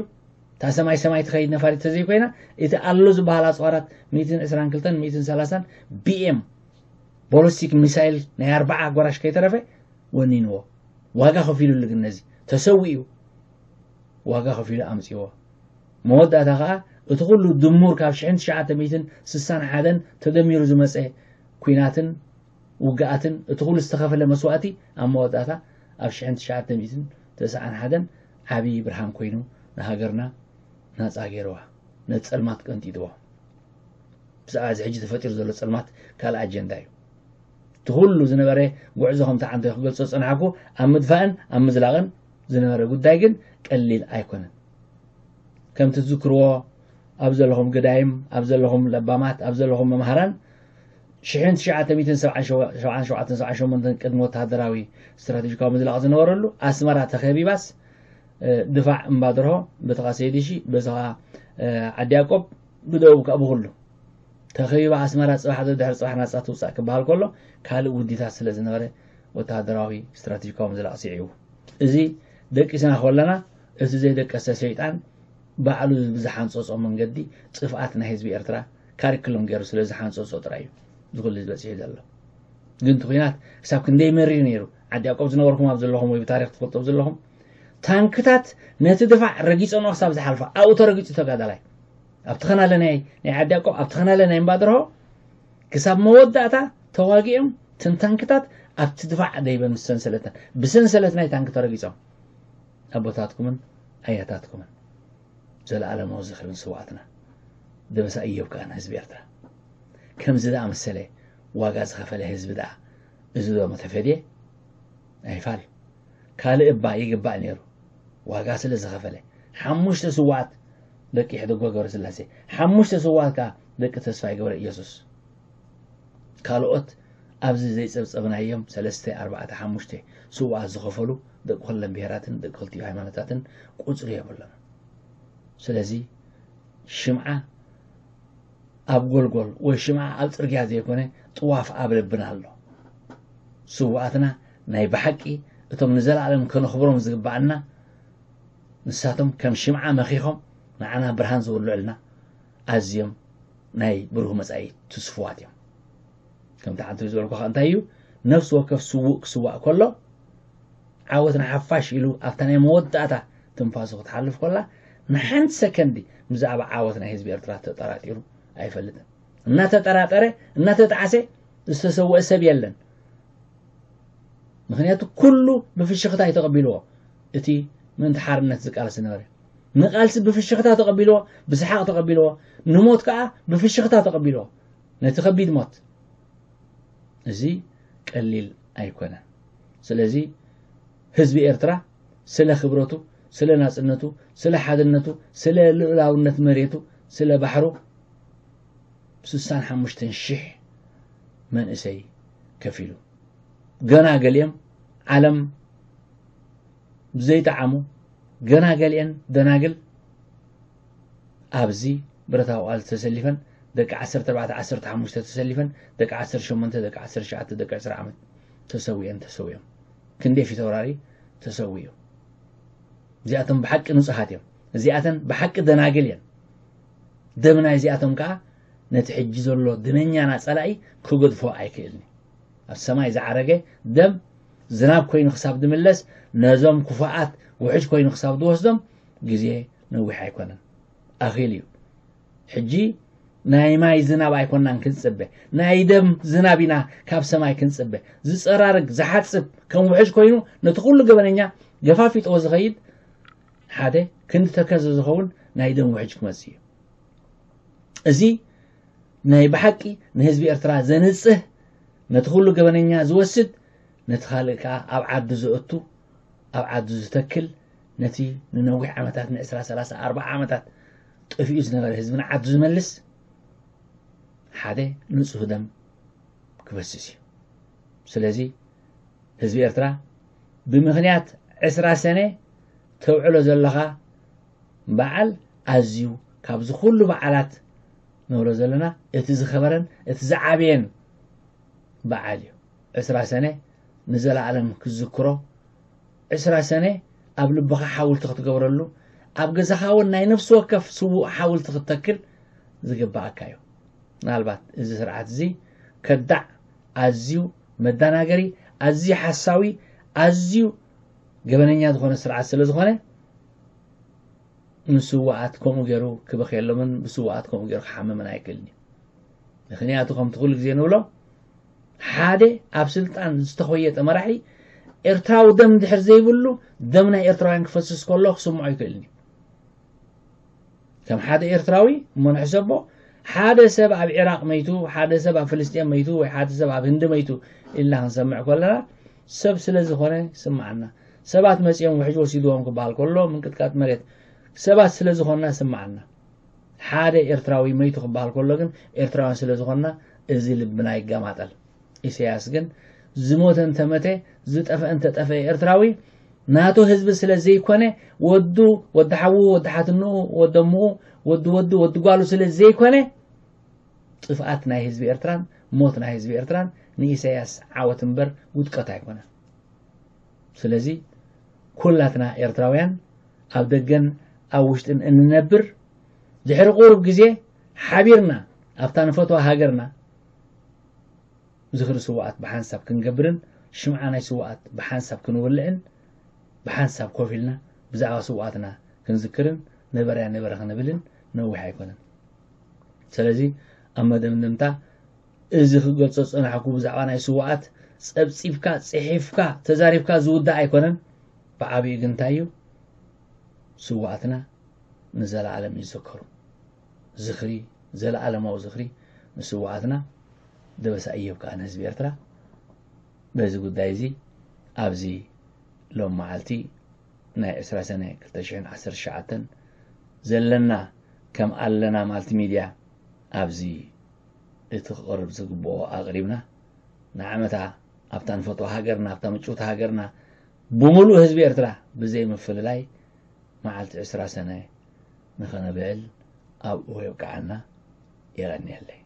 እታ ሰማይ ሰማይ ትኸይድ ነፋሪት ተዘይኮይና፣ እቲ ኣሎ ዝበሃል ኣጽዋራት ሚእትን ዕስራን ክልተን ሚእትን ሰላሳን ቢኤም ቦለስቲክ ሚሳይል ናይ ኣርባዓ ጎራሽ ከይተረፈ ወኒንዎ። ዋጋ ከፊሉሉ ግን ነዚ ተሰዊኡ ዋጋ ከፊሉ ኣምጺዎ። መወዳእታ ኸኣ እቲ ኩሉ ድሙር ካብ ሽሕን ትሽዓተ ሚእትን ስሳን ሓደን ተደሚሩ ዝመጸ ኲናትን ውግኣትን እቲ ኩሉ ዝተኸፈለ መስዋእቲ ኣብ መወዳእታ ኣብ ሽሕን ትሽዓተ ሚእትን ተስዓን ሓደን ዓብዪ ብርሃን ኮይኑ ንሃገርና ናጻ ገይርዋ፣ ነቲ ጸልማት ቀንጢጥዎ። ብዛዕባ እዚ ሕጂ ተፈጢሩ ዘሎ ጸልማት ካልእ ኣጀንዳ እዩ። እቲ ኩሉ ዝነበረ ጉዕዞ ከምቲ ዓንተ ክገልጾ ዝጸናሕኩ ኣብ ምድፋእን ኣብ ምዝላቕን ዝነበረ ጉዳይ ግን ቀሊል ኣይኮነን። ከምቲ ትዝክርዎ ኣብ ዘለኹም ገዳይም፣ ኣብ ዘለኹም ለባማት፣ ኣብ ዘለኹም መምሃራን ሽሕን ትሽዓተ ሚእትን ሰብዓን ሸውዓተን ሰብዓን ሸሞንተን ቅድሚ ወተሃደራዊ ስትራቴጂካዊ ምዝላቕ ዝነበረሉ ኣስመራ ተኸቢባስ ድፋዕ እምባድርሆ በቲ ኸኣ ሰይድሺ በዚ ኸኣ ዓዲ ያቆብ ብደቡብ ከኣ ብኹሉ ተኸቢባ ኣስመራ ጽባሕ ድሕሪ ጽባሕ ናጻ ትውጻእ ክበሃል ከሎ ካልእ ውዲታት ስለ ዝነበረ ወተሃደራዊ ስትራቴጂካዊ ምዝላቕ ስዒቡ እዚ ደቂስና ከለና እቲ ዘይደቀሰ ሰይጣን ባዕሉ ብዝሓንጸጾ መንገዲ ጥፍኣት ናይ ህዝቢ ኤርትራ ካሪክሎም ገይሩ ስለ ዝሓንጸጾ ጥራይ እዩ እዚ ኩሉ ዝበጽሑ ዘሎ። ግን እቲ ኲናት ክሳብ ክንደይ መሪር ነይሩ። ዓዲ ያቆብ ዝነበርኩም ኣብ ዘለኹም ወይ ብታሪኽ ትፈልጦ ዘለኹም ታንክታት ነቲ ድፋዕ ረጊጸንኦ ክሳብ ዝሓልፋ ኣብኡ ተረጊጹ ተጋዳላይ ኣብቲ ኸናለ ናይ ናይ ዓዲ ያቆብ ኣብቲ ኸናለ ናይ እምባደርሆ ክሳብ መወዳእታ ተዋጊኦም ተን ታንክታት ኣብቲ ድፋዕ ደይበን ምስ ሰንሰለተን ብሰንሰለት ናይ ታንክ ተረጊጾም ኣቦታትኩምን ኣያታትኩምን ዘለኣለማዊ ዝኽሪ ንስውኣትና። ደበሳ እዮብ ከኣ ንህዝቢ ኤርትራ። ከምዚ ዝኣመሰለ ዋጋ ዝኸፈለ ህዝቢ ደኣ እዚ ዶ መተፈድየ? ኣይፋል። ካልእ እባ ይግባእ ነይሩ። ዋጋ ስለ ዝኸፈለ። ሓሙሽተ ስውኣት ደቂ ሕደጎ ገብረስላሴ። ሓሙሽተ ስውኣት ከኣ ደቂ ተስፋይ ገብረ ኢየሱስ። ካልኦት ኣብዚ ዘይጸብጸብናዮም ሰለስተ፣ ኣርባዕተ፣ ሓሙሽተ ስውኣት ዝኸፈሉ ደቂ ኩለን ብሄራትን ደቂ ክልቲኡ ሃይማኖታትን ቁጽሪ የብሎምን። ስለዚ ሽምዓ ኣብ ጎልጎል ወይ ሽምዓ ኣብ ጽርግያ ዘይኮነ ጥዋፍ ኣብ ልብና ኣሎ። ስውኣትና ናይ ብሓቂ እቶም ንዘለኣለም ከነኽብሮም ዝግብኣና ንሳቶም ከም ሽምዓ መኺኾም ንዓና ብርሃን ዘውልዑልና ኣዝዮም ናይ ብሩህ መጻኢ ትስፉዋት እዮም። ከምቲ ሓንቲ ዝበልኩኻ እንታይ እዩ ነፍሲ ወከፍ ስዉእ ክስዋእ ከሎ ዓወት ንሓፋሽ ኢሉ ኣብታ ናይ መወዳእታ ትንፋሱ ክትሓልፍ ከላ ንሓንቲ ሰከንዲ ብዛዕባ ዓወት ናይ ህዝቢ ኤርትራ ተጠራጢሩ ኣይፈልጥን። እናተጠራጠረ እናተጣዕሰ ዝተሰወአ ሰብ የለን። ምኽንያቱ ኩሉ ብፍሽኽታ እዩ ተቐቢልዎ። እቲ ምእንቲ ሓርነት ዝቃለስ ዝነበረ ንቓልሲ ብፍሽኽታ ተቐቢልዎ፣ ብሰሓቕ ተቐቢልዎ፣ ንሞት ከኣ ብፍሽኽታ ተቐቢልዎ። ነቲ ከቢድ ሞት እዚ ቀሊል ኣይኮነን። ስለዚ ህዝቢ ኤርትራ ስለ ክብረቱ፣ ስለ ናጽነቱ፣ ስለ ሓድነቱ፣ ስለ ልኡላውነት መሬቱ፣ ስለ ባሕሩ ስሳን ሓሙሽተን ሽሕ መንእሰይ ከፊሉ። ገና ገሊኦም ዓለም ዘይጠዓሙ፣ ገና ገሊአን ደናግል ኣብዚ ብረታዊ ቃልሲ ተሰሊፈን፣ ደቂ ዓሰርተ ኣርባዕተ ዓሰርተ ሓሙሽተ ተሰሊፈን፣ ደቂ ዓሰርተ ሸሞንተ፣ ደቂ ዓሰርተ ትሽዓተ፣ ደቂ ዕስራ ዓመት ተሰዊአን፣ ተሰዊኦም። ክንደይ ፊት ኣውራሪ ተሰዊኡ። እዚኣቶም ብሓቂ ንጹሃት እዮም። እዚኣተን ብሓቂ ደናግል እየን። ደም ናይ እዚኣቶም ከኣ ነቲ ሕጂ ዘሎ ድመኛና ጸላኢ ክገድፎ ኣይክእልን እዩ። ኣብ ሰማይ ዝዓረገ ደም ዝናብ ኮይኑ ክሳብ ዝምለስ፣ ነዞም ክፉኣት ውሕጅ ኮይኑ ክሳብ ዝወስዶም ግዜ ነዊሕ ኣይኮነን። ኣኺሉ እዩ። ሕጂ ናይ ማይ ዝናብ ኣይኮናን ክንጽበ፣ ናይ ደም ዝናብ ኢና ካብ ሰማይ ክንጽበ። ዝጸራርግ፣ ዝሓጽብ፣ ከም ውሕጅ ኮይኑ ነቲ ኩሉ ገበነኛ ገፋፊጥዎ ዝኸይድ ሓደ ክንዲ ተከዘ ዝኸውን ናይ ደም ውሕጅ ክመጽእ እዩ። እዚ ናይ ብሓቂ ንህዝቢ ኤርትራ ዘንጽህ፣ ነቲ ኩሉ ገበነኛ ዝወስድ፣ ነቲ ካልእ ከኣ ኣብ ዓዱ ዘእቱ፣ ኣብ ዓዱ ዝተክል፣ ነቲ ንነዊሕ ዓመታት፣ ንዕስራ፣ ሰላሳ፣ ኣርብዓ ዓመታት ጠፊኡ ዝነበረ ህዝቢ ንዓዱ ዝመልስ ሓደ ንጹህ ደም ክፈስስ እዩ። ስለዚ ህዝቢ ኤርትራ ብምኽንያት ዕስራ ሰነ ተውዕሎ ዘለኻ በዓል ኣዝዩ ካብዚ ኩሉ በዓላት ንብሎ ዘለና እቲ ዝኸበረን እቲ ዝዓበየን በዓል እዩ። ዕስራ ሰነ ንዘለኣለም ክትዝክሮ፣ ዕስራ ሰነ ኣብ ልብኻ ሓውልቲ ክትገብረሉ፣ ኣብ ገዛኻ እውን ናይ ነፍሲ ወከፍ ስዉእ ሓውልቲ ክትተክል ዝግብኣካ እዩ። ምናልባት እዚ ስርዓት እዚ ከዳዕ፣ ኣዝዩ መደናገሪ፣ ኣዝዩ ሓሳዊ፣ ኣዝዩ ገበነኛ ዝኾነ ስርዓት ስለ ዝኾነ፣ ንስዉኣት ከምኡ ገይሩ ክበኽየሎምን ብስዉኣት ከምኡ ገይሩ ክሓምምን ኣይክእልን እዩ። ምኽንያቱ ከምቲ ኩሉ ግዜ ንብሎ፣ ሓደ ኣብ ስልጣን ዝተኾየጠ መራሒ ኤርትራዊ ደም ድሕር ዘይብሉ፣ ደም ናይ ኤርትራውያን ክፈስስ ከሎ ክስምዖ ኣይክእልን እዩ። ከም ሓደ ኤርትራዊ እሞ ንሕሰቦ፣ ሓደ ሰብ ኣብ ዒራቕ መይቱ፣ ሓደ ሰብ ኣብ ፍልስጤም መይቱ፣ ወይ ሓደ ሰብ ኣብ ህንዲ መይቱ ኢልና ክንሰምዕ ከለና፣ ሰብ ስለ ዝኾነ ይስምዓና። ሰባት መጺኦም ውሕጅ ወሲድዎም ክበሃል ከሎ፣ ምንቅጥቃጥ መሬት፣ ሰባት ስለ ዝኾንና ይስምዓና። ሓደ ኤርትራዊ መይቱ ክበሃል ከሎ ግን፣ ኤርትራውያን ስለ ዝኾንና፣ እዚ ልብና ይገማጠል። ኢሳያስ ግን ዝሞተ እንተመተ፣ ዝጠፍአ እንተጠፍአ ኤርትራዊ ናቱ ህዝቢ ስለ ዘይኮነ፣ ወዱ፣ ወዲ ሓዉ፣ ወዲ ሓትንኡ፣ ወዲ ኣምኡ፣ ወዲ ወዱ፣ ወዲ ጓሉ ስለ ዘይኮነ፣ ጥፍኣት ናይ ህዝቢ ኤርትራን ሞት ናይ ህዝቢ ኤርትራን ንኢሳያስ ዓወት እምበር ውድቀት ኣይኮነን። ስለዚ ኩላትና ኤርትራውያን ኣብ ደገን ኣብ ውሽጥን እንነብር፣ ድሕሪ ቁሩብ ግዜ ሓቢርና ኣብታ ንፈትዋ ሃገርና ዝኽሪ ስዉኣት ብሓንሳብ ክንገብርን ሽምዓ ናይ ስዉኣት ብሓንሳብ ክንውልዕን ብሓንሳብ ኮፍ ኢልና ብዛዕባ ስዉኣትና ክንዝክርን ነበረያ ነበረ ክንብልን ነዊሕ ኣይኮነን። ስለዚ ኣብ መደምደምታ እዚ ክገልጾ ዝጸናሕኩ ብዛዕባ ናይ ስዉኣት ጸብጺብካ፣ ጽሒፍካ፣ ተዛሪብካ ዝውዳእ ኣይኮነን። ብዓቢኡ ግን እንታይ እዩ? ስዉኣትና ንዘለኣለም ይዘከሩ። ዝኽሪ፣ ዘለኣለማዊ ዝኽሪ ንስዉኣትና። ደበሳ እዮብ ከኣ ንህዝቢ ኤርትራ። በዚ ጉዳይ እዚ ኣብዚ ሎም መዓልቲ ናይ ዕስራ ሰነ ክልተ ሽሕን ዓሰርተ ትሽዓተን ዘለና ከም ኣለና ማልቲ ሚድያ ኣብዚ እቲ ክቐርብ ዝግብኦ ኣቕሪብና፣ ንዓመታ ኣብታ ንፈትዋ ሃገርና፣ ኣብታ ምጭውቲ ሃገርና፣ ብምሉእ ህዝቢ ኤርትራ ብዘይ ምፍልላይ መዓልቲ ዕስራ ሰነ ንኸነብዕል ኣብኡ የብቅዓና። የቐንየለይ።